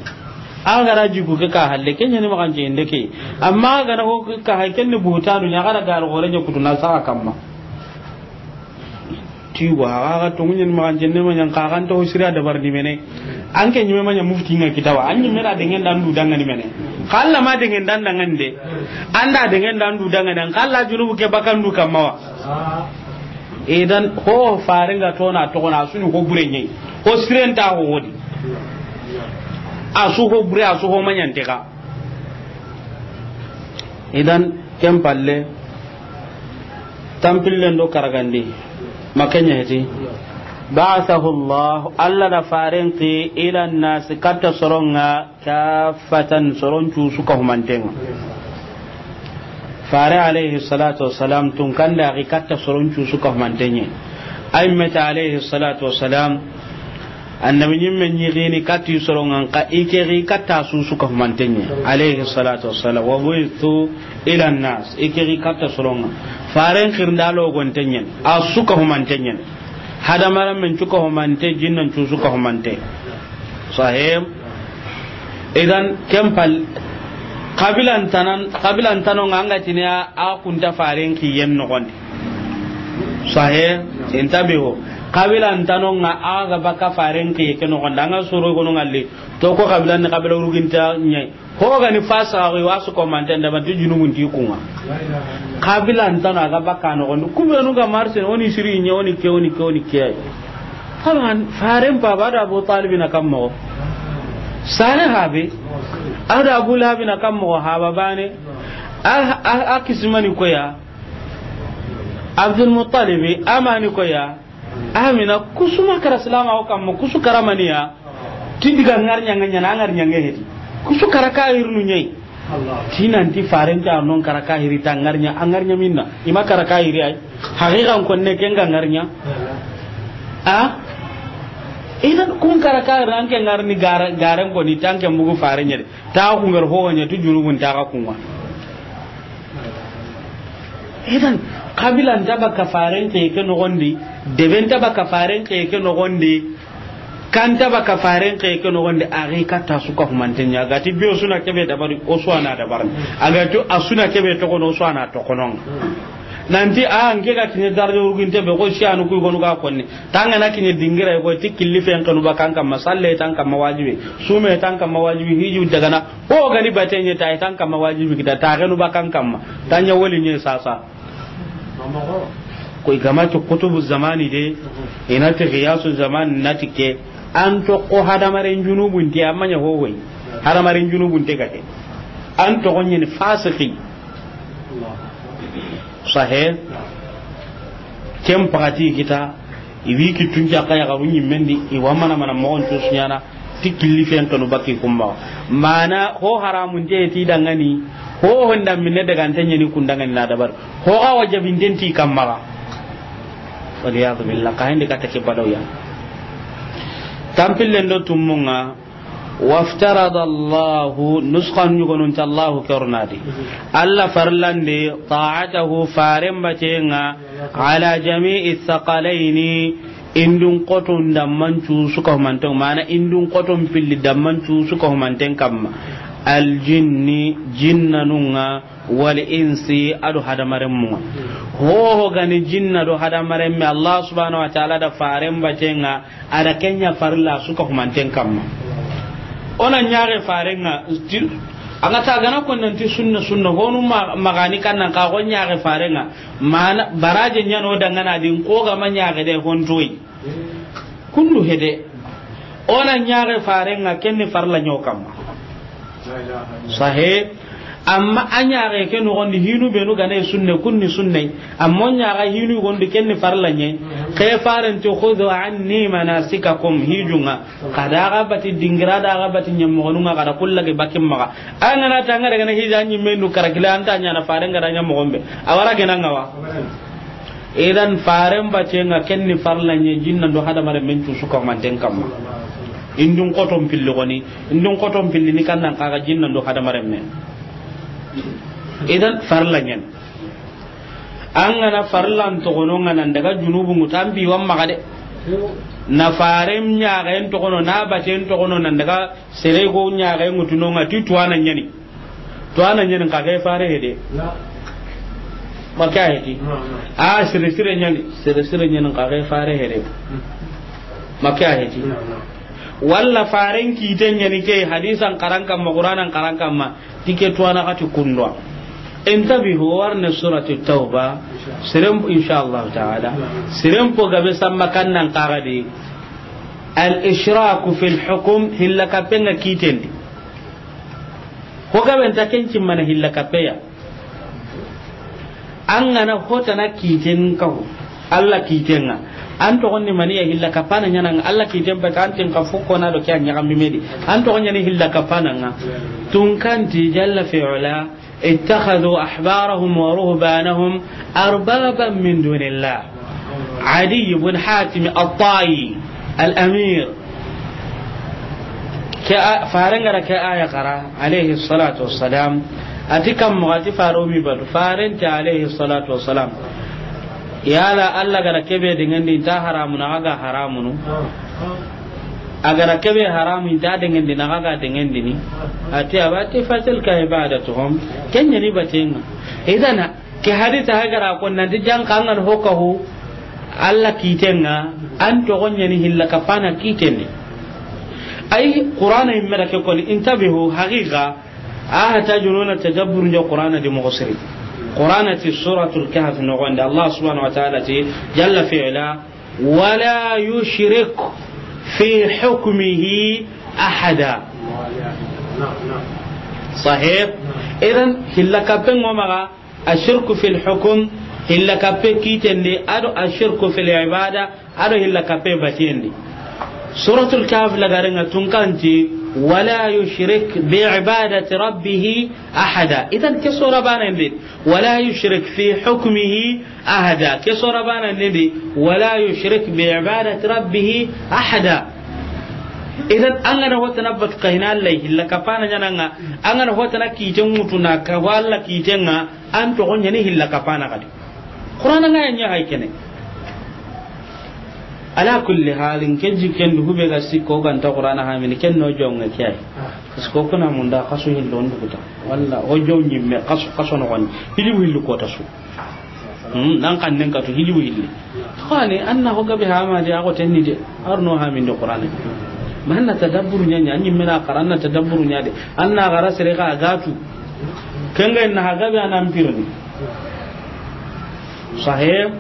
Aga ra ji ku ke ka halle kenya ni magance hinde ke. Amma ga na ho ka hay ken ni buta dunya ga da gar gore nya kutuna sa kamma. Tibo aga tongunya ni magance ne manya ka kan to sira dabar ni mene. An ke nyime manya mufti nga kitawa. An nyime na dengan dan du dangani mene. Kala ma dengan dan dangande. Anda dengan dan du dangande. Kala junubu ke bakandu kamawa. Idan ho fare nga tona togona suni ho bure ɲai. Ho sirenta ho wodi. A su ho bure, a su ho maɲante ka. Idan ken palle tampillen do karagandi. Makanya heti. Ba'athahu Allah, Allah da faren ki ila nas katta soronga. Kaffatan, soron cusu ka humantenga. Fare alayhi salatu wassalam tun kanda axi katta soron cusu ka humantenye. Ay meta alayhi salatu wassalam, annabi ɲimme ɲixini katti sorongan ka i ke xi katta susu ka humantenye. Alayhi salatu wassalam. Wa buithu ila nas, i ke xi katta soronga. Faren xirnda logontenyen, a su ka humantenyen. Hadamaren men cuka humante, jinnan cusu ka humante. Sahib. Idan kempal kabilan tanan, kabilan tano nga anga tiniya a kunta faren kiyen nogondi. Sahib. Intabiho. Kabilan tano nga aga baka faren kiye ke nogondi. Anga soro gono ngalli. To ko kabilan ni kabila uruginta nyai. Ho gani fasa ga wa su ko manten da banti junubun ti kunga. Kabila ntana ga bakka no gondi. Kubenu ga marsen oni siri ɲa oni ke, oni ke, oni ke. Taban faren pa ba da Abu Talib na kammo. Sare habe. Ada Abu Lahab na kammo haba bane. A, a, a kismani koya. Abdul Muttalib amani koya. Amina kusuma kara silama o kamma kusu kara maniya. Ti diga ngarnya nganya na ngarnya nge hedi. Kusu kara ka irnu nyai. Tinanti farenta non kara ka hiri ta ngarnya, a ngarnya minna. Ima kara ka hiri ay. Haqiqan konne kenga ngarnya. A? Idan kun kara ka hiri anke ngarni gara, garen koni tanke mugu farenya de. Ta ku ngar ho nya tu junubun ta ka kunwa. Idan kabila nta baka faren ke ke nogondi, debe nta baka faren ke ke nogondi, kan nta baka faren ke ke nogondi, a ga katta su ka humanten ɲa. Gati biyo suna kebe dabari, o su ana dabarni. A ga tu a suna kebe tokono, o su ana tokonon. Nanti a nke ga kine darjo urginte be ko siyanu ku gonu ga konni. Tanga na kiɲe dingira ko ti killi fen kanu ba kan kamma salle tan kamma wajibi. Sume tan kamma wajibi hiju dagana. Ko gani batenye ta tan kamma wajibi kita ta ganu ba kan kamma. Tanya wali nye sasa. Ko igama to kutubu zamani de. Ina ti qiyasu zaman nati ke. An to ko hadamaren junubun te amma nya ho hoy. Hadamaren junubun te gate. An to gonye ni fasiki. Sahe. Ken pagati kita. I wi kittun cakka yaxaru ɲimmendi, i wa mana mana moxon cusu ɲana, ti killi fen kanu bakki kummaxa. Mana ho haramunte ti dangani, ho honda minne dagante ɲeni kun dangani na dabari. Ho xa wajabinten ti kammaxa. Waliyadu billah, ka hendi katta ke badawya. Tampillen do tummunga, waftarada Allahu, nusxan ɲugonun ta Allahu kornadi. Allah farlande ta'atahu, faren batenga, ala jami'i thaqalaini, indun qoton damman cusu ka humanten, mana indun qoton pilli damman cusu ka humanten kamma. Aljinni, jinnanunga, wal insi, ado hadamaren munga. Hoho gani jinna do hadamaren me, Allah subhanahu wa ta'ala da faren batenga, ada kenya farilla su ka humanten kamma. Ona ɲaxe farenga, ti-, A ga ta gana ko nanti sunna, sunna, honu ma-, magani kan nan ka go ɲaxe faren ŋa. Mana baraje ɲano dangana din ko ga ma ɲaxe de hontoyi. Kundu hede. O na ɲaxe faren ŋa, ken ni farla ɲo kamma. Sahe. Amma a ɲaxe ke noxondi hinu benu gane sunne, kunni sunne. Amma o ɲaxa hinu gondi, ken ni farla ɲe. Ke faren ti, "Khudhu anni manasikakum", hijunga. Kada ga bati dingira, da ga bati ɲamogonunga, kada kulla ke bakin maxa. An gana ta an ga daga na hija ɲimme nu karakila, an ta ɲana faren ga da ɲamogon be. A wara gena ŋa wa. Idan faren batenga ken ni farla ɲe, jinna ndo hadamaren men cu suka manten kamma. Indun koton pilli goni, indun koton pilli ni kannan kaga jinna ndo hadamaren men. Idan farla ɲen. An gana farlan togono nga nan daga junubu ŋutu an bi wan maxa de. Na faren ɲaxen togono, na baten togono nan daga sere go ɲaxen ŋutu no nga ti tuwana ɲani. Tuwana ɲani ka ke fare hede. Maka heti. A sere sere ɲani, sere sere ɲani ka ke fare hede. Maka heti. Walla faren kite ɲani ke hadisan karan kamma, Qur'anan karan kamma. Tike tuwana xati kundwa. Intabihu, warne surati Tawba. Seren, insha Allah ta'ala. Seren po gabe samma kannan kaga di. Al ishraku fil hukm, hilla kapenga kitendi. Ho gabe nta kenci mana hilla kapeya. An gana hotana kiten kahu. Allah kiten ŋa. An toxon ni maniya hilla kapana ɲananga. Allah kiten pe kantin ka fukko na do kya ɲaga mimedi. An toxon ɲani hilla kapana ŋa. Tunkanti jalla fi'ala. اتخذوا أحبارهم ورهبانهم أربابا من دون الله. عدي بن حاتم الطائي الأمير. Ke a-, faren gara ke aya kara, alayhi salatu wassalam. Ati kam mo ati faro mi batu, faren ta alayhi salatu wassalam. Yala Allah gara kebe dengan di ta haramu na ga haramu no. A gara kebe haramu inta dengendi na ga dengendini. Ati abati fatil ka ibadatuhum. Kenya ni batenga. Idan ke hadita hagara ko nan di jan kangan hokahu. Allah kitenga an to gonya ni hilla kapana kitendi. Ay Qur'ana immeda ke ko ni intabihu haqiqa. Aha tajununa tadabbur njo Qur'ana di mo siri. Qur'ana ti suratul kahf no gonda Allah subhanahu wa ta'ala ti jalla fi'la. ولا يشرك في حكمه أحدا. صحيح؟ إذن هلا كابن ومغا الشرك في الحكم، هلا كابن كيتن دي، أدو الشرك في العبادة، أدو هلا كابن باتين دي. سورة الكهف لغارنغا تنكانتي، ولا يشرك بعبادة ربه أحدا. إذن كسورة بانا دي، ولا يشرك في حكمه أحدا. Ke sura bana nindi, ولا يشرك بعبادة ربه أحدا. Idan an gana hotana batu kayina Allah hilla kapana ɲananga, an gana hotana kiten ŋutuna ka walla kitenga, an to gonya ni hilla kapana kadi. Qur'ana nga nya hay kene. Ala kulli halin, ken jikken du hube ga sikko ganta Qur'ana hamini ken no jonga kiyai. Parce que kuna munda kasu hillo nduguta. Walla o jonyi me kasu, kasu no gon. Hili willu ko tasu. Hmm, nan kan nen katu hili willi. Khani anna ho gabe hama de ago tenni de. Arno hamin de Qur'ana. Manna tadabburu nya nya, nyi mena qaranna tadabburu nya de. Anna gara sere ga gatu. Kenga na ha gabe anan pirni. Sahih.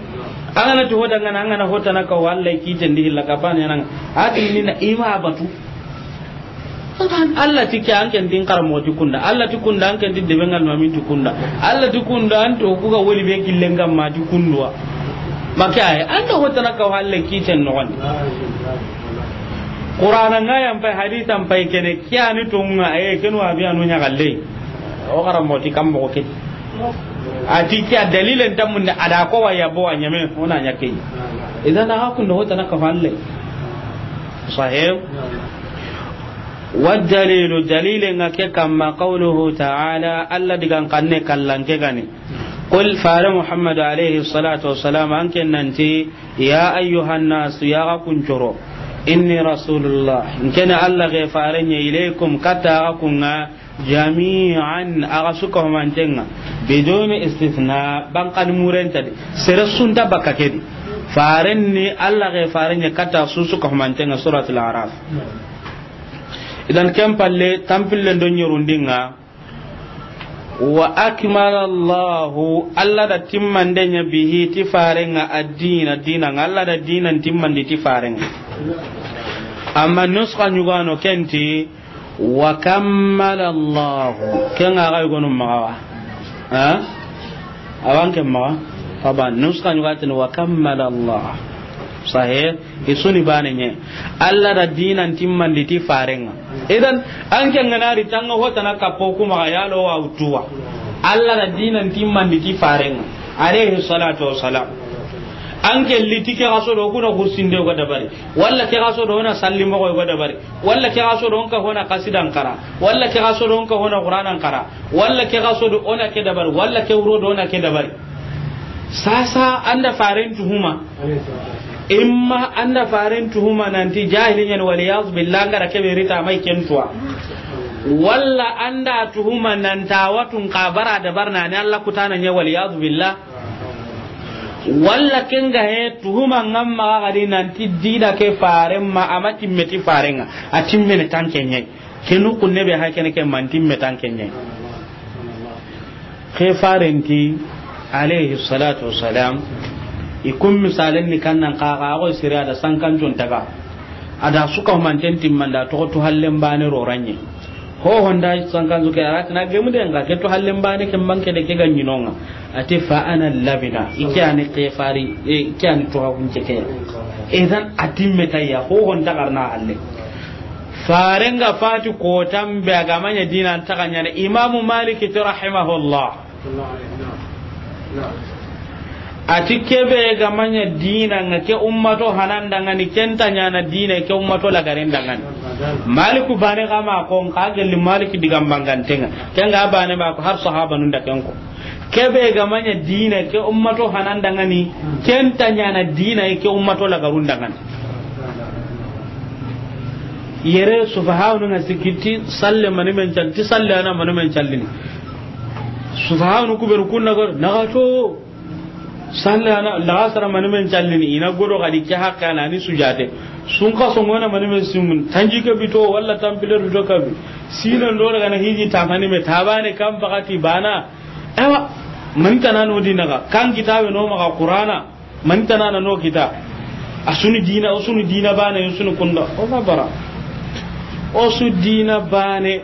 An gana ti hoda ngana, an gana hotana ka walla kiten di hilla kapana nan. Ati ni na ima batu. Taban, Allah ti ke an ken din karamo ti kunda. Allah ti kunda an ken din de bengal mamin ti kunda. Allah ti kunda an to ku ga woli be killen gam ma ti kundwa. Maka ay, an to hotana ka walla kiten no gon. Qur'ana nga yan pay, hadithan pay kene, kiyani to nga, e, kenu abi anu nya galle. O karamo ti kam mo ke. A ti kiya dalilen tamunde ada ko wa yabo wa ɲame, ona ɲa ke. Idan aga kundo hotana ka falle. Sahih. والدليل، دليل nga ke kamma, قوله تعالى، Allah digan kanne kallan ke gani. قل، fare Muhammad alayhi salatu wassalam, an ken nanti, يا أيها الناس، ya ga kuncoro, إني رسول الله، nkene Allah ge farenye, إليكم، kata ga kunga, جميعا، aga suka humantenga, بدون استثناء، bankan murenta di, sere sunta baka kedi. Farenni Allah ge farenye kata su suka humantenga, Suratul Araf. Idan ken palle tampille ndo nyerundinga, Wa akmala Allahu, Alla da timmande ɲa bihi ti farenga, ad-dina, dinanga, Alla da dinan timmandi ti farenga. Amma nuska ɲugano kenti, wa kammala Allahu, kenga ga yogonu maxa wa. Ha? Awan ke maxa? Faba nuska ɲugatini wa kammala Allah. Sahih. Isuni bane ɲe. Alla da dinan timmandi ti farenga. Idan, an ke ngana ri tanga hotana kappo kuma ya lo wa utuwa. Alla da dinan timmandi ti farenga, alayhi salatu wassalam. An ke liti ke gaso do kuna hursinde ga dabari. Walla ke gaso do na salli mo ga dabari. Walla ke gaso do ka hona qasidan kara. Walla ke gaso do ka hona Qur'anan kara. Walla ke gaso do ona ke dabari. Walla ke wuro do ona ke dabari. Sasa anda faren tuhuma. Imma anda faren tuhuma nanti jahiliyan, wal iyaz billah, ngara kebe rita mai kentuwa. Walla anda tuhuma nanta watun kabara dabarna ne Alla kutana ɲa, wal iyaz billah. Walla kenga he tuhuma ngamma gadi nanti dida ke faren ma, ama timmeti farenga, a timmene tanke ɲai. Kenu kunne be ha kene ke mantimme tanke ɲai. Ke farenti, alayhi salatu wassalam, i kun misalen ni kannan kaga, a go siri a da sankan jun taga. A da suka manten timmanda to tu hallen bane roranye. Ho honda sankan zuke arati na gemu den ga ke tu hallen bane ke manke de ke ga ɲinonga. Ati fa ana labina, i ke ani ke fari, i ke ani to ga kunce ke. Idan a timme tayya, ho honda garna halle. Farenga fati kotan be a ga ma ɲa dinan taga ɲana. Imamu Maliki ti rahimahullah. A ti kebe ga ma ɲa dinanga ke ummato hanandangani, kenta ɲana dina ke ummato lagarendangani. Maliku bane ga ma ko nka gelli Maliki digan bangantenga. Kenga bane ma ko har sahaba nun da kenko. Kebe ga ma ɲa dina ke ummato hanandangani, kenta ɲana dina ke ummato lagarundangani. Yere sufahawnu nga sikiti salle mani men cal-, ti salle ana mani men callini. Sufahawnu kuberu kunna go, naga to. Salle ana, laga sara mani men callini, ina godo gadi ke hakka na ni sujate. Sun ka songona mani men simun, tanji ke bito, walla tampile bito kabi. Sino ndo daga na hiji tamani me tabane kam pakati bana. Ewa, mani tana no dinaga, kan kitabe no maga Qur'ana. Mani tana na no kita. A sunu dina, o sunu dina bane, o sunu kunda. O ga bara. O su dina bane.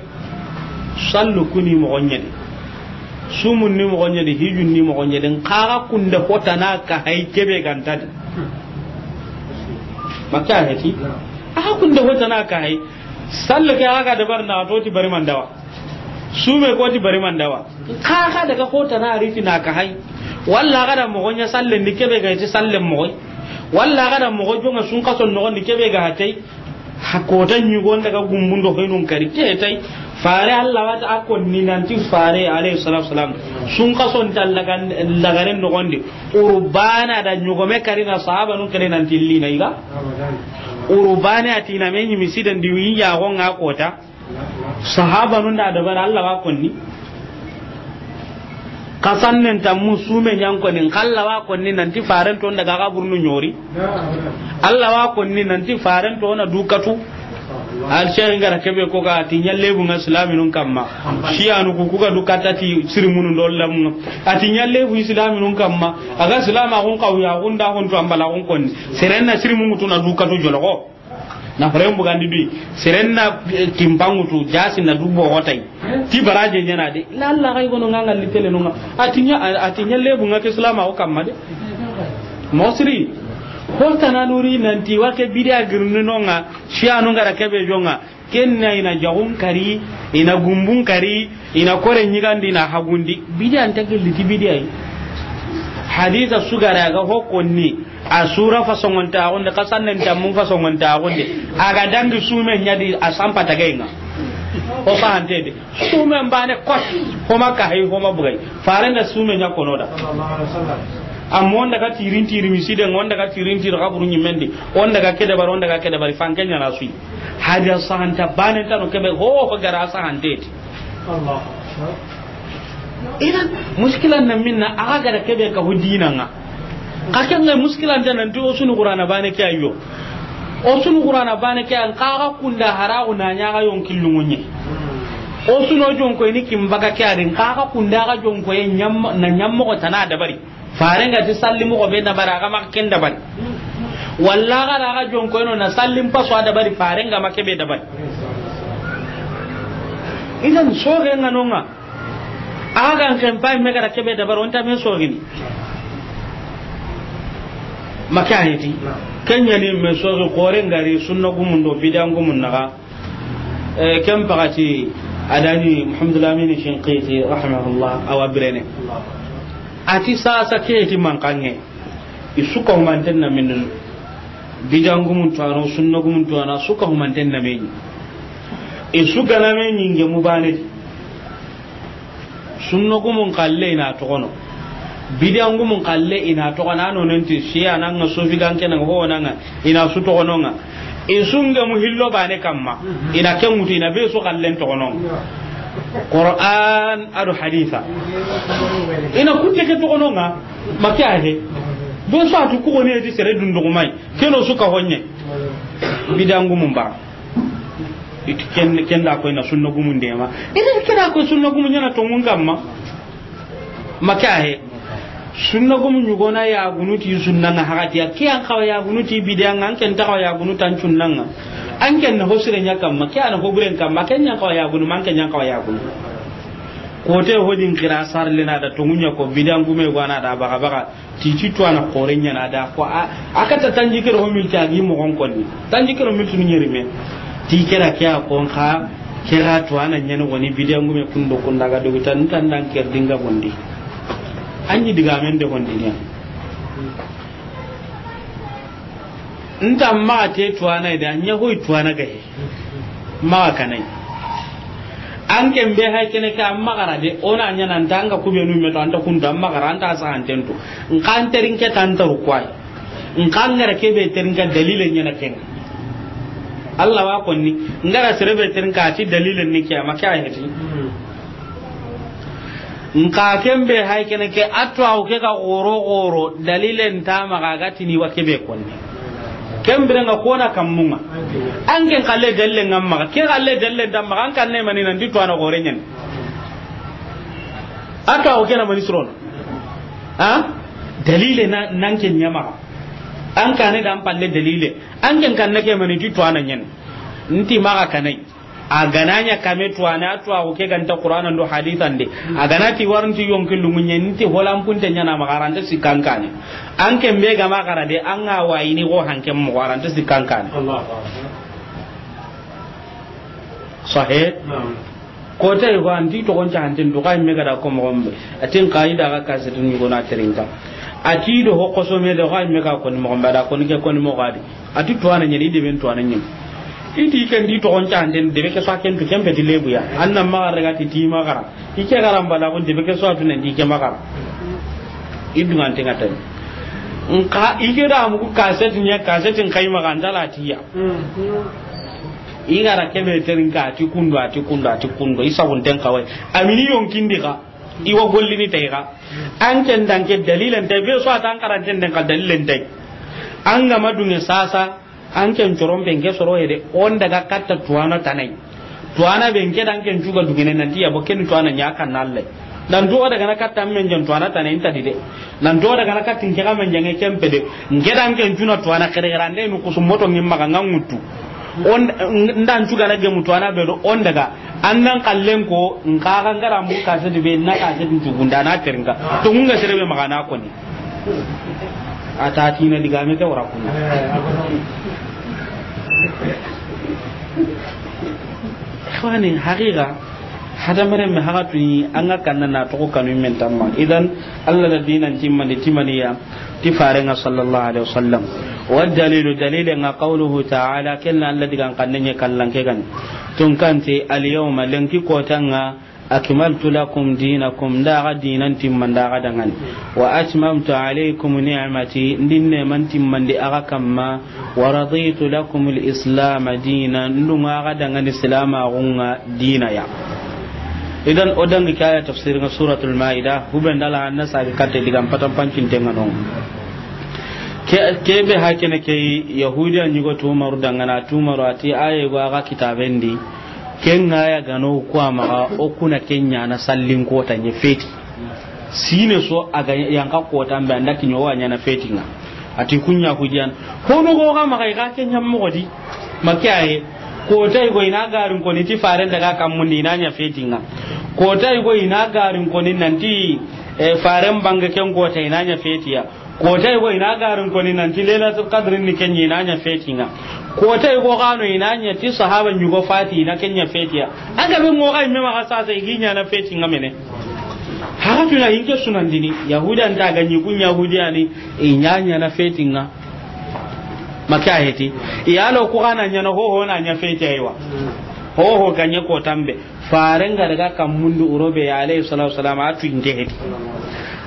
Sallu kuni moxo ɲedi. Sumun ni moxo ɲedi, hijun ni moxo ɲedi. Nkaga kunde hotana ka hay kebe gantadi. Makka heti. Aga kunde hotana ka hay. Sallu ke aga dabar na to ti bari mandawa. Sume ko ti bari mandawa. Nkaga daga hotana riti na ka hay. Walla aga da moxo ɲa sallen di kebe ga ti sallen moxo. Walla aga da moxo jonga sun kason noxon di kebe ga hatay. Ha kota ɲugon daga gumbundo hoynun kari ke tay. Fare Allah wata a konni nanti fare alayhi salatu wasalam. Sun kason ta lagan-, lagaren noxon di. Urbana da ɲugome kari na sahaba nun kari nanti lina iga. Urbana atina me ɲi misiden di wi ya gonga kota. Sahaba nun da dabara Allah wa konni. Kasannen tammu sume ɲankoni, nka Allah wa konni nanti faren to daga kaburnu ɲori. Allah wa konni nanti faren to na dukatu. Al sheikh ngara kebe ko ga ti ɲallebu nga islaminun kamma. Shiyanu ku kuga dukata ti sirimunu dollamu. Ati ɲallebu islaminun kamma. Aga silama kun kawya kun da kun to ambala kun konni. Serenna sirimun tuna dukatu jologo. Na faren bugandi dui. Serenna, eh, kimpangutu, jasi na dubo hotay. Ti baraje ɲana de. La Allah kay gono nga ngalli tele nonga. Atinya, atinya lebu nga ke islama o kamma de. Mosri. Hotana nuri nanti wake bidia girni nonga. Shiyanu ngara kebe jonga. Kenna ina jagun kari, ina gumbun kari, ina kore ɲigandi, ina hagundi. Bidiya nta gelli ti bidiya yi. Hadisa sugara ga hokonni, a sura fasongonta agunde, kasannen tammu fasongonta agunde. Aga dangi sume ɲadi a sampa tagainga. O fahante de. Sume mbane kot, homa kahay, homa bugay. Farenda sume ɲa konoda. Amma onda ga tirin tiri miside, onda ga tirin tiri kaburu ɲimendi, onda ga kede bar, onda ga kede bari, fanke ɲana sui. Hadiya sahanta bane tano kebe ho ho gara sahante ti. Allah. Idan muskilan na minna aga gara kebe ka hudina nga. Ka kenga muskilan tano nti o sunu Qur'ana bane ke ayo. O sunu Qur'ana bane ke an kaga kunda haragu na ɲaga yon killungunye. O su no jonkoyini kin baga ke a di, n xa xa kunda xa jonkoye ñam-, na ñammoxo tana dabari. Faren ga ti salli moxo be dabari, a ga maxa ken dabari. Walla xa da xa jonkoyeno na sallin paso a dabari, faren ga ma ke be dabari. Idan soxe ŋa no ŋa. A ga n ken pay me ga da ke be dabari, o nta me soxini. Ma ke a heti. Ken ña ni me soxi xore ngari sunna gumun do bidan gumun naxa. Eh, ken paxati a da ni Muhammadu Lamini Shinqiti rahimahullah, a wa birene. A ti sasa ke ti mankanŋe. I su ka humanten na minin. Bidan gumun tuwano, sunna gumun tuwano, su ka humanten na mini. I su ga na mini nge mu bane. Sunna gumun xalle i na toxono. Bidan gumun xalle i na toxono. A no nenti siya na ŋa, sofi ganke na ŋa, ho na ŋa, i na su toxono ŋa. I su nge mu hillo bane kamma. I na ke ŋutu, i na be su xallen toxono ŋa. Qur'an a do hadisa. I na kutte ke toxono ŋa. Ma ke a he. Be su a tu ku xo ne ti sere dunduxumay. Ke no su ka honye. Bidan gumun ba. Iti ken, ken da koy na sunna gumun dema. Iti ken da koy sunna gumun ñana tongun kamma. Ma ke a he. Sunna gumun ñugona ya gunuti sunna ŋa hagati ya. Ke an xawa ya gunuti bidan ŋa, an ken ta xawa ya gunuti an sunna ŋa. An ken na hosire ña kamma, ke an hoburen kamma, ken ña xawa ya gunu, man ken ña xawa ya gunu. Kote hodin kira sarlena da tongunya ko bidan gume gwana da baga baga. Titi tuwana xore ñana da ko a, a kata tanji kero ho milti a gi moxon konni. Tanji kero milti ni ñeri me. Ti kera ke a kon xa, kera tuwana ñani woni bidan gume kundo kunda ga dogi tan, tan dan ker dinga bondi. Anji diga men de bondi ne. Nta maxa te tuwana ida, ña hoy tuwana ga he. Maxa kanai. An ken be hay kene ke an maxa ra de, o na ñana nta an ga kubenu me to, an ta kuntu an maxa ra, an ta saxanten tu. Nxa an terinke tan taru kwai. Nxa an gara ke be terinka dalile ñana ken. Allah wa konni, ngara sere be terinka a ti dalile ni ke, a ma ke a heti. Nka ken be hay kene ke, a tuwaxu ke ga xoro xoro, dalilen ta maxa ga tini wa ke be konni. Ken bire nga kona kammunga. An ken xalle dalilen nga maxa, ke xalle dalilen ta maxa, an kanne mani nan ti tuwana xore ñen. A tuwaxu ke na mani surono. Ha? Dalile na, nan ken ña maxa. An kane da an palle dalile. An ken kanne ke mani ti tuwana ñen. Nti maxa kanai. A ga na ña kame tuwana, a tuwaxu ke ga nta Qur'ana ndo hadisa nde. A ga na ti waranti yonki lungu ñe, nti holan punte ñana maxa, a ra nta sikkan kane. An ken be ga ma xara de, an ga wayini xo hanken moxo, a ra nta sikkan kane. Allahu Akbar. Sahih? Naam. Ko tay ko an ti toxon cahanten du, xa me ga da ko moxon be. A tin qaida ga kasetu ni gona terinka. A ti do ho koso me de, xa me ga ko ni moxon be, a da ko ni ke ko ni moxo a di. A ti tuwana ñeni, i deben tuwana ñeni. I ti ken di toxon cahanten, debe ke so a ken tu, ken peti lebu ya. An na maxa ra ga ti ti maxa ra. I ke ga ra n bala ko debe ke so a tu nan di ke maxa ra. I dungan tenga tan. Nka i ke da mugu kaseti ña, kaseti n kay maxa an ta la ti ya. I ga ra ke be terinka, a ti kundo, a ti kundo, a ti kundo. I sabunten kawai. A mini yonkin di xa. I wa gollini tay xa. An ken dan ke dalilen tay, be so a ta an karanten den xa dalilen tay. An ga ma dunge sasa, an ken coron be n ke soro hede, o n daga katta tuwana tanai. Tuwana be n ke dan ken cuga dugene nan ti ya bo ken tuwana ña kan na Allah. Nan to daga na katta men jan tuwana tanai nta di de. Nan to daga na kattin ke ga men jange ken pede. N ke dan ken cuna tuwana xere xere ande nu kusu moto ngim maxa nga ŋuttu. O n, n dan cuga na gemu tuwana be do o n daga. An nan xallen ko, n xa ga n ga ra mbu kaseti be, na kaseti n cugunda na terinka. To ngun ga sere be maxa na ko ni. A ta ti na diga me ke wara kunna. Ikhwani, haqiqa, hadamaren me haga tuni, an ga kanna na toxo kanu men tamma. Idan, Allah da dinan timmandi timaniya, ti farenga sallallahu alaihi wasallam. Wa dalilu, dalile nga qawluhu ta'ala, ken na Allah digan kanne ñe kallan ke gani. Tun kanti, al yawma, lenki kotanga, akmaltu lakum dinakum, nda ga dinan timmandi ga dangani. Wa atmamtu alaykum ni'mati, ndin neman timmandi ga kamma. Wa raditu lakum al-islama dina, ndunga ga dangani silamaxunga dina ya. Idan o dangi ke aya tafsir nga Suratul Maida, huben dala hanna sabi katte digan patan pancinte nga non. Ke, ke be hakene ke Yahudiya ñigo tumaru dangana tumaru a ti aye go a ga kitaben di. Ken ŋa ya ga no ku a maxa, o ku na ken ɲaana sallin koota ɲa feti. Siine su a ga yanqa kootan be, an da kiɲe o wa ɲaana feti ŋa. A ti ku ɲa Yahudiyan. Hono go ga maxa i ga ken ɲa moxo di. Ma ke a yi, koota yogo i na garin koni ti faaren daga kanmun di i na ɲa feti ŋa. Koota yogo i na garin koni nanti, eh, faaren bange ken koota i na ɲa feti ya. Koota yogo i na garin koni nanti Lailatul Qadri ni ken ɲa i na ɲa feti ŋa. Koota yogo xa no i na ɲa ti sahaba ɲugo fati i na ken ɲa feti ya. A ga be ŋo ga i me maxa sasa i gi ɲaana feti ŋa mene. Haxa tuna hinke sunandini, Yahudiyan ta ga ɲi ku ɲa Yahudiyani, i ɲa ɲaana feti ŋa. Ma ke a heti. I ya lo ku xa na ɲaana hoho na ɲa feti ya yi wa. Hoho ga ɲa kootan be. Faaren ga daga kanmun di wuro be ya, alayhi salatu wasalam, a tu inte heti.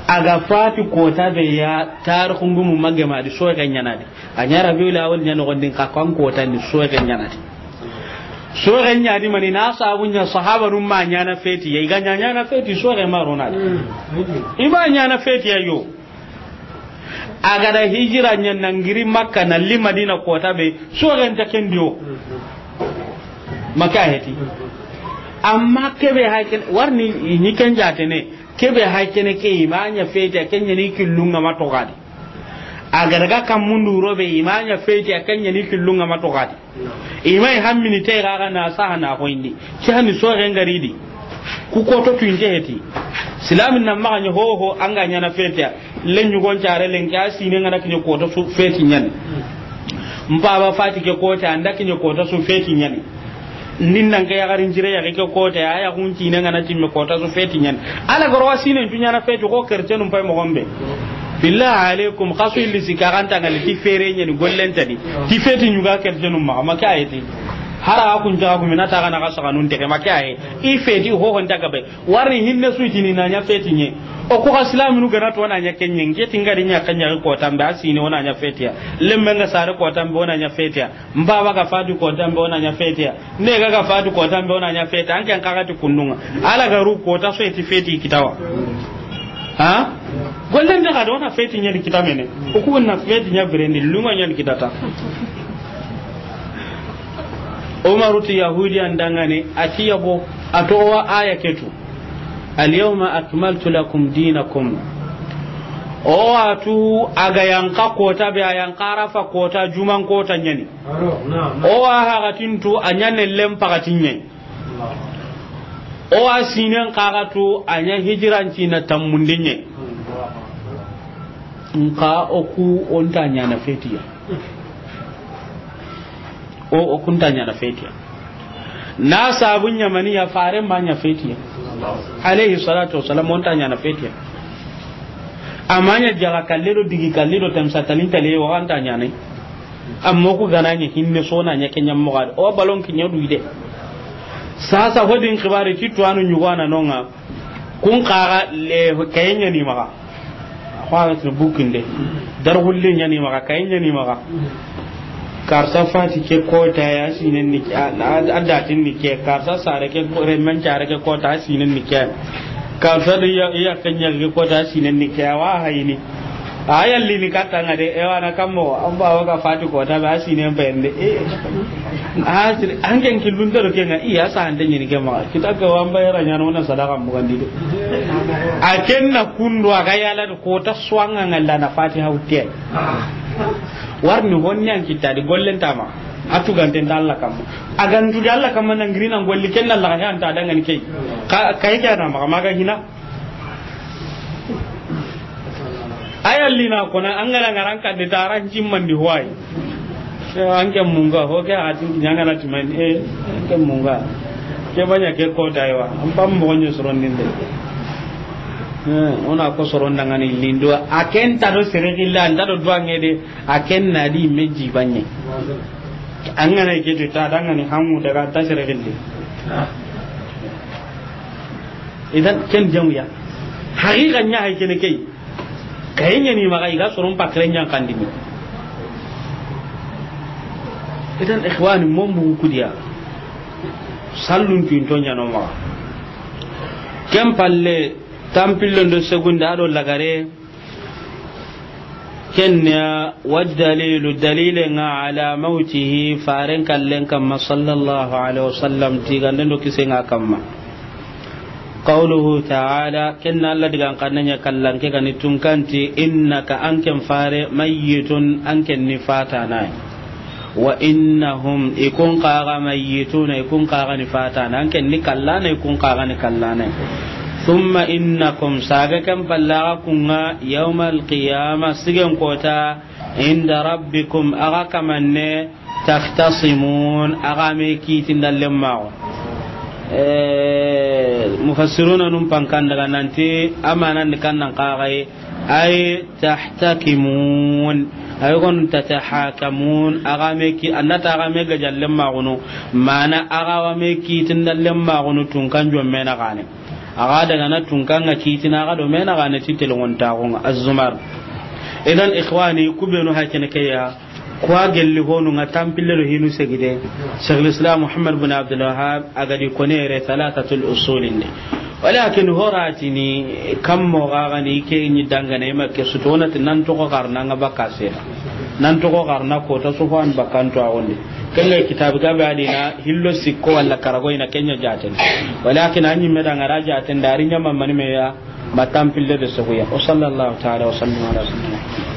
A ga fati koota be ya, tarixun gumu magema di, soxe ɲaana di. A ɲa Rabiul Awwal ɲa noxon di, xa kan kootan di, soxe ɲaana di. Soxe ɲa di mani na sabu ɲa sahabanun ma ɲaana feti ya, i ga ɲa ɲaana feti, soxe ma ro na di. I ma ɲaana feti ya yo. A ga da hijira ɲa nan giri Makka na li Madina koota be, soxe nta ken di wo. Ma ke a heti. Amma ke be hay ken, warni ni ken jaatene, ke be hay kene ke i ma ɲa feti ya, ken ɲa ni killun ŋa ma toxo di. A ga daga kanmun di wuro be i ma ɲa feti ya, ken ɲa ni killun ŋa ma toxo di. I ma i hammini te ga ga na saha na xoyindi. Ke hani soxe ŋa ri di. Ku kooto tu inte heti. Silamin na maxa ɲa hoho an ga ɲaana feti ya. Len ɲugon care lenki a siine ŋa na kiɲe koota su feti ɲaani. Mpaba fati ke koota an da kiɲe koota su feti ɲaani. Nin nan ke yaxarin cire yaxi ke koota ya, a yaxun siine ŋa na timme koota su feti ɲaani. Ala goro wa siine tu ɲaana feti ko kercenun pay moxon be. Billahi alaikum, xa su illi sika ganta ŋa li ti fere ɲaani gollen ta di. Ti feti ɲuga kercenun maxa, ma ke a heti. Hara a kun jaga gumina ta ga na ga saxanun tege, ma ke a he. I feti hoho nta ga be. Warni hinne su i tini na ɲa feti ɲa. O ku ga silaminu ga na to na ɲa ken ɲa, nke ti n ga ri ɲa ken ɲa kootan be, a siine o na ɲa feti ya. Lemmen ga sare kootan be o na ɲa feti ya. Mpaba ga fati kootan be o na ɲa feti ya. Ne ga ga fati kootan be o na ɲa feti ya. An ken xa ga ti kunnun ŋa. Ala ga ru koota su i ti feti kita wa. Ha? Gollen be ga do na feti ɲa di kita mene. O ku na feti ɲa birendi lunga ɲa di kita ta. Umaru ti Yahudiyan danŋa ni, a ti yabo, a toxo wa aya ke tu. Al yawma akmaltu lakum dinakum. O wa tu a ga yanqa koota be, a yanqa Arafa koota, juman koota ɲaani. O wa haxatin tu a ɲa nellen paxatin ɲa yi. O wa siinen xa ga tu a ɲa hijiran ciina tammundi ɲa yi. Nxa o ku o nta ɲaana feti ya. O, o ku nta ɲaana feti ya. Na sabu ɲa mani ya, faaren ma ɲa feti ya. Alayhi salatu wasalam, o nta ɲaana feti ya. A ma ɲa jaga kalle do digi kalle do tamsa talin tale, o xa nta ɲaana. Amma o ku ga na ɲa hinne su o na ɲa ken ɲa moxo di. O balon kiɲa du de. Sasa ho din xibaari ti tuwaanu ɲugo a na no ŋa. Kun xa ga le kaye ɲa ni maxa. Xo a ga tini bukinde. Darxulle ɲa ni maxa, kaye ɲa ni maxa. Karsa fati ke koota ya, a siinen ni ke, a, a, a datin ni ke. Karsa sare ke ko-, remmen care ke koota, a siinen ni ke. Karsa do ya, ya ke ɲa ke koota, a siinen ni ke. A wa hayini. A yalli ni katta ŋa de, e wa na kammo, an ba wa ga fati koota be, a siinen be nde. E. A sir-, an ken killun do ke ŋa, i ya sa an de ɲini ke maxa. Kita ke wa an ba yara ɲaana, o na sadaka mugandi de. A ken na kundu a ga yala do koota su an ŋa ŋalla na fati hawte. Warni honni an kita di gollen ta ma. A tugante nda Alla kamma. A ga ntu di Alla kamma na ngiri na golli ken na Alla ga an ta danŋa ni ke yi. Ka, kaye ke na maxa, maxa hina. A yalli na kona, an ga na ŋaran kande ta, a ran cimmandi hoyi. An ke munga, ho ke a tin ɲa ŋa na timandi, e, an ke munga. Ke ba ɲa ke koota yi wa, an pam mo ɲo sorondinde. E, o na ko soronda ŋa ni lindo, a ken ta do sere gilla, an ta do duwa ŋe de, a ken na di me ji ba ɲe. An ga na ke to ta, danŋa ni hangu daga ta sere gille. Idan ken jamu ya. Haqiqa ɲa hay kene ke yi. Kaye ɲa ni maxa, i ga soron pakre ɲa n kandini. Idan ikhwani, mon bugu kudiya. Sallun tu into ɲa no maxa. Ken palle, tampillo ndo segunde a do lagare. Ken ya wa dalilu, dalile ŋa, ala mawtihi, faren kallen kamma, sallallahu alaihi wasallam, tiganden do kisen ŋa kamma. Qawluhu ta'ala, ken na Alla digan xannen ya kallanke ga ni tunkanti, innaka, an ken fare, mayyitun, an ken ni fatana ya. Wa innahum, i kun xa ga, mayyituna, i kun xa ga ni fatana, an ken ni kallana, i kun xa ga ni kallana. Thumma innakum, saga ken palle axa kun ŋa, yawmal qiyama, sigen kota, inda rabbikum, axa kamanne, takhtasimun, axa me kitinda lemmaxu. Eh, mufassiruna nun pankan daga nanti, amanan ni kannan xa ga yi, ay tahtakimun, ay gon tatahakamun, axa me ki, annata axa me gajalle maxunu, mana axa wa me kitinda lemmaxunu tunkan jomme na gane. Axa daga na tunkan ŋa kitina axa do me na gane ti telongontaxu ŋa, Az-Zumar. Idan, ikhwani, kubenu hakene ke ya, kuwa gelli honu ŋa tampille do hinu segide. Shaykhul Islam Muhammad bin Abdul Wahhab a ga di kone yere thalathatul usulin de. Walakin horatini kammo ga ga ni ke ni dangana i ma ke sutona ti nan toxo garna ŋa baka sera. Nan toxo garna ko ta sufan bakanto a wonde. Ken ŋa kitabi ga be adina hillo sikko wala karago ina ken ya jaten. Walakin anyi me dangara jaten dari nyama mani me ya ma tampille de soguya. Wa sallallahu ta'ala wa sallam ala sayyidina Muhammad.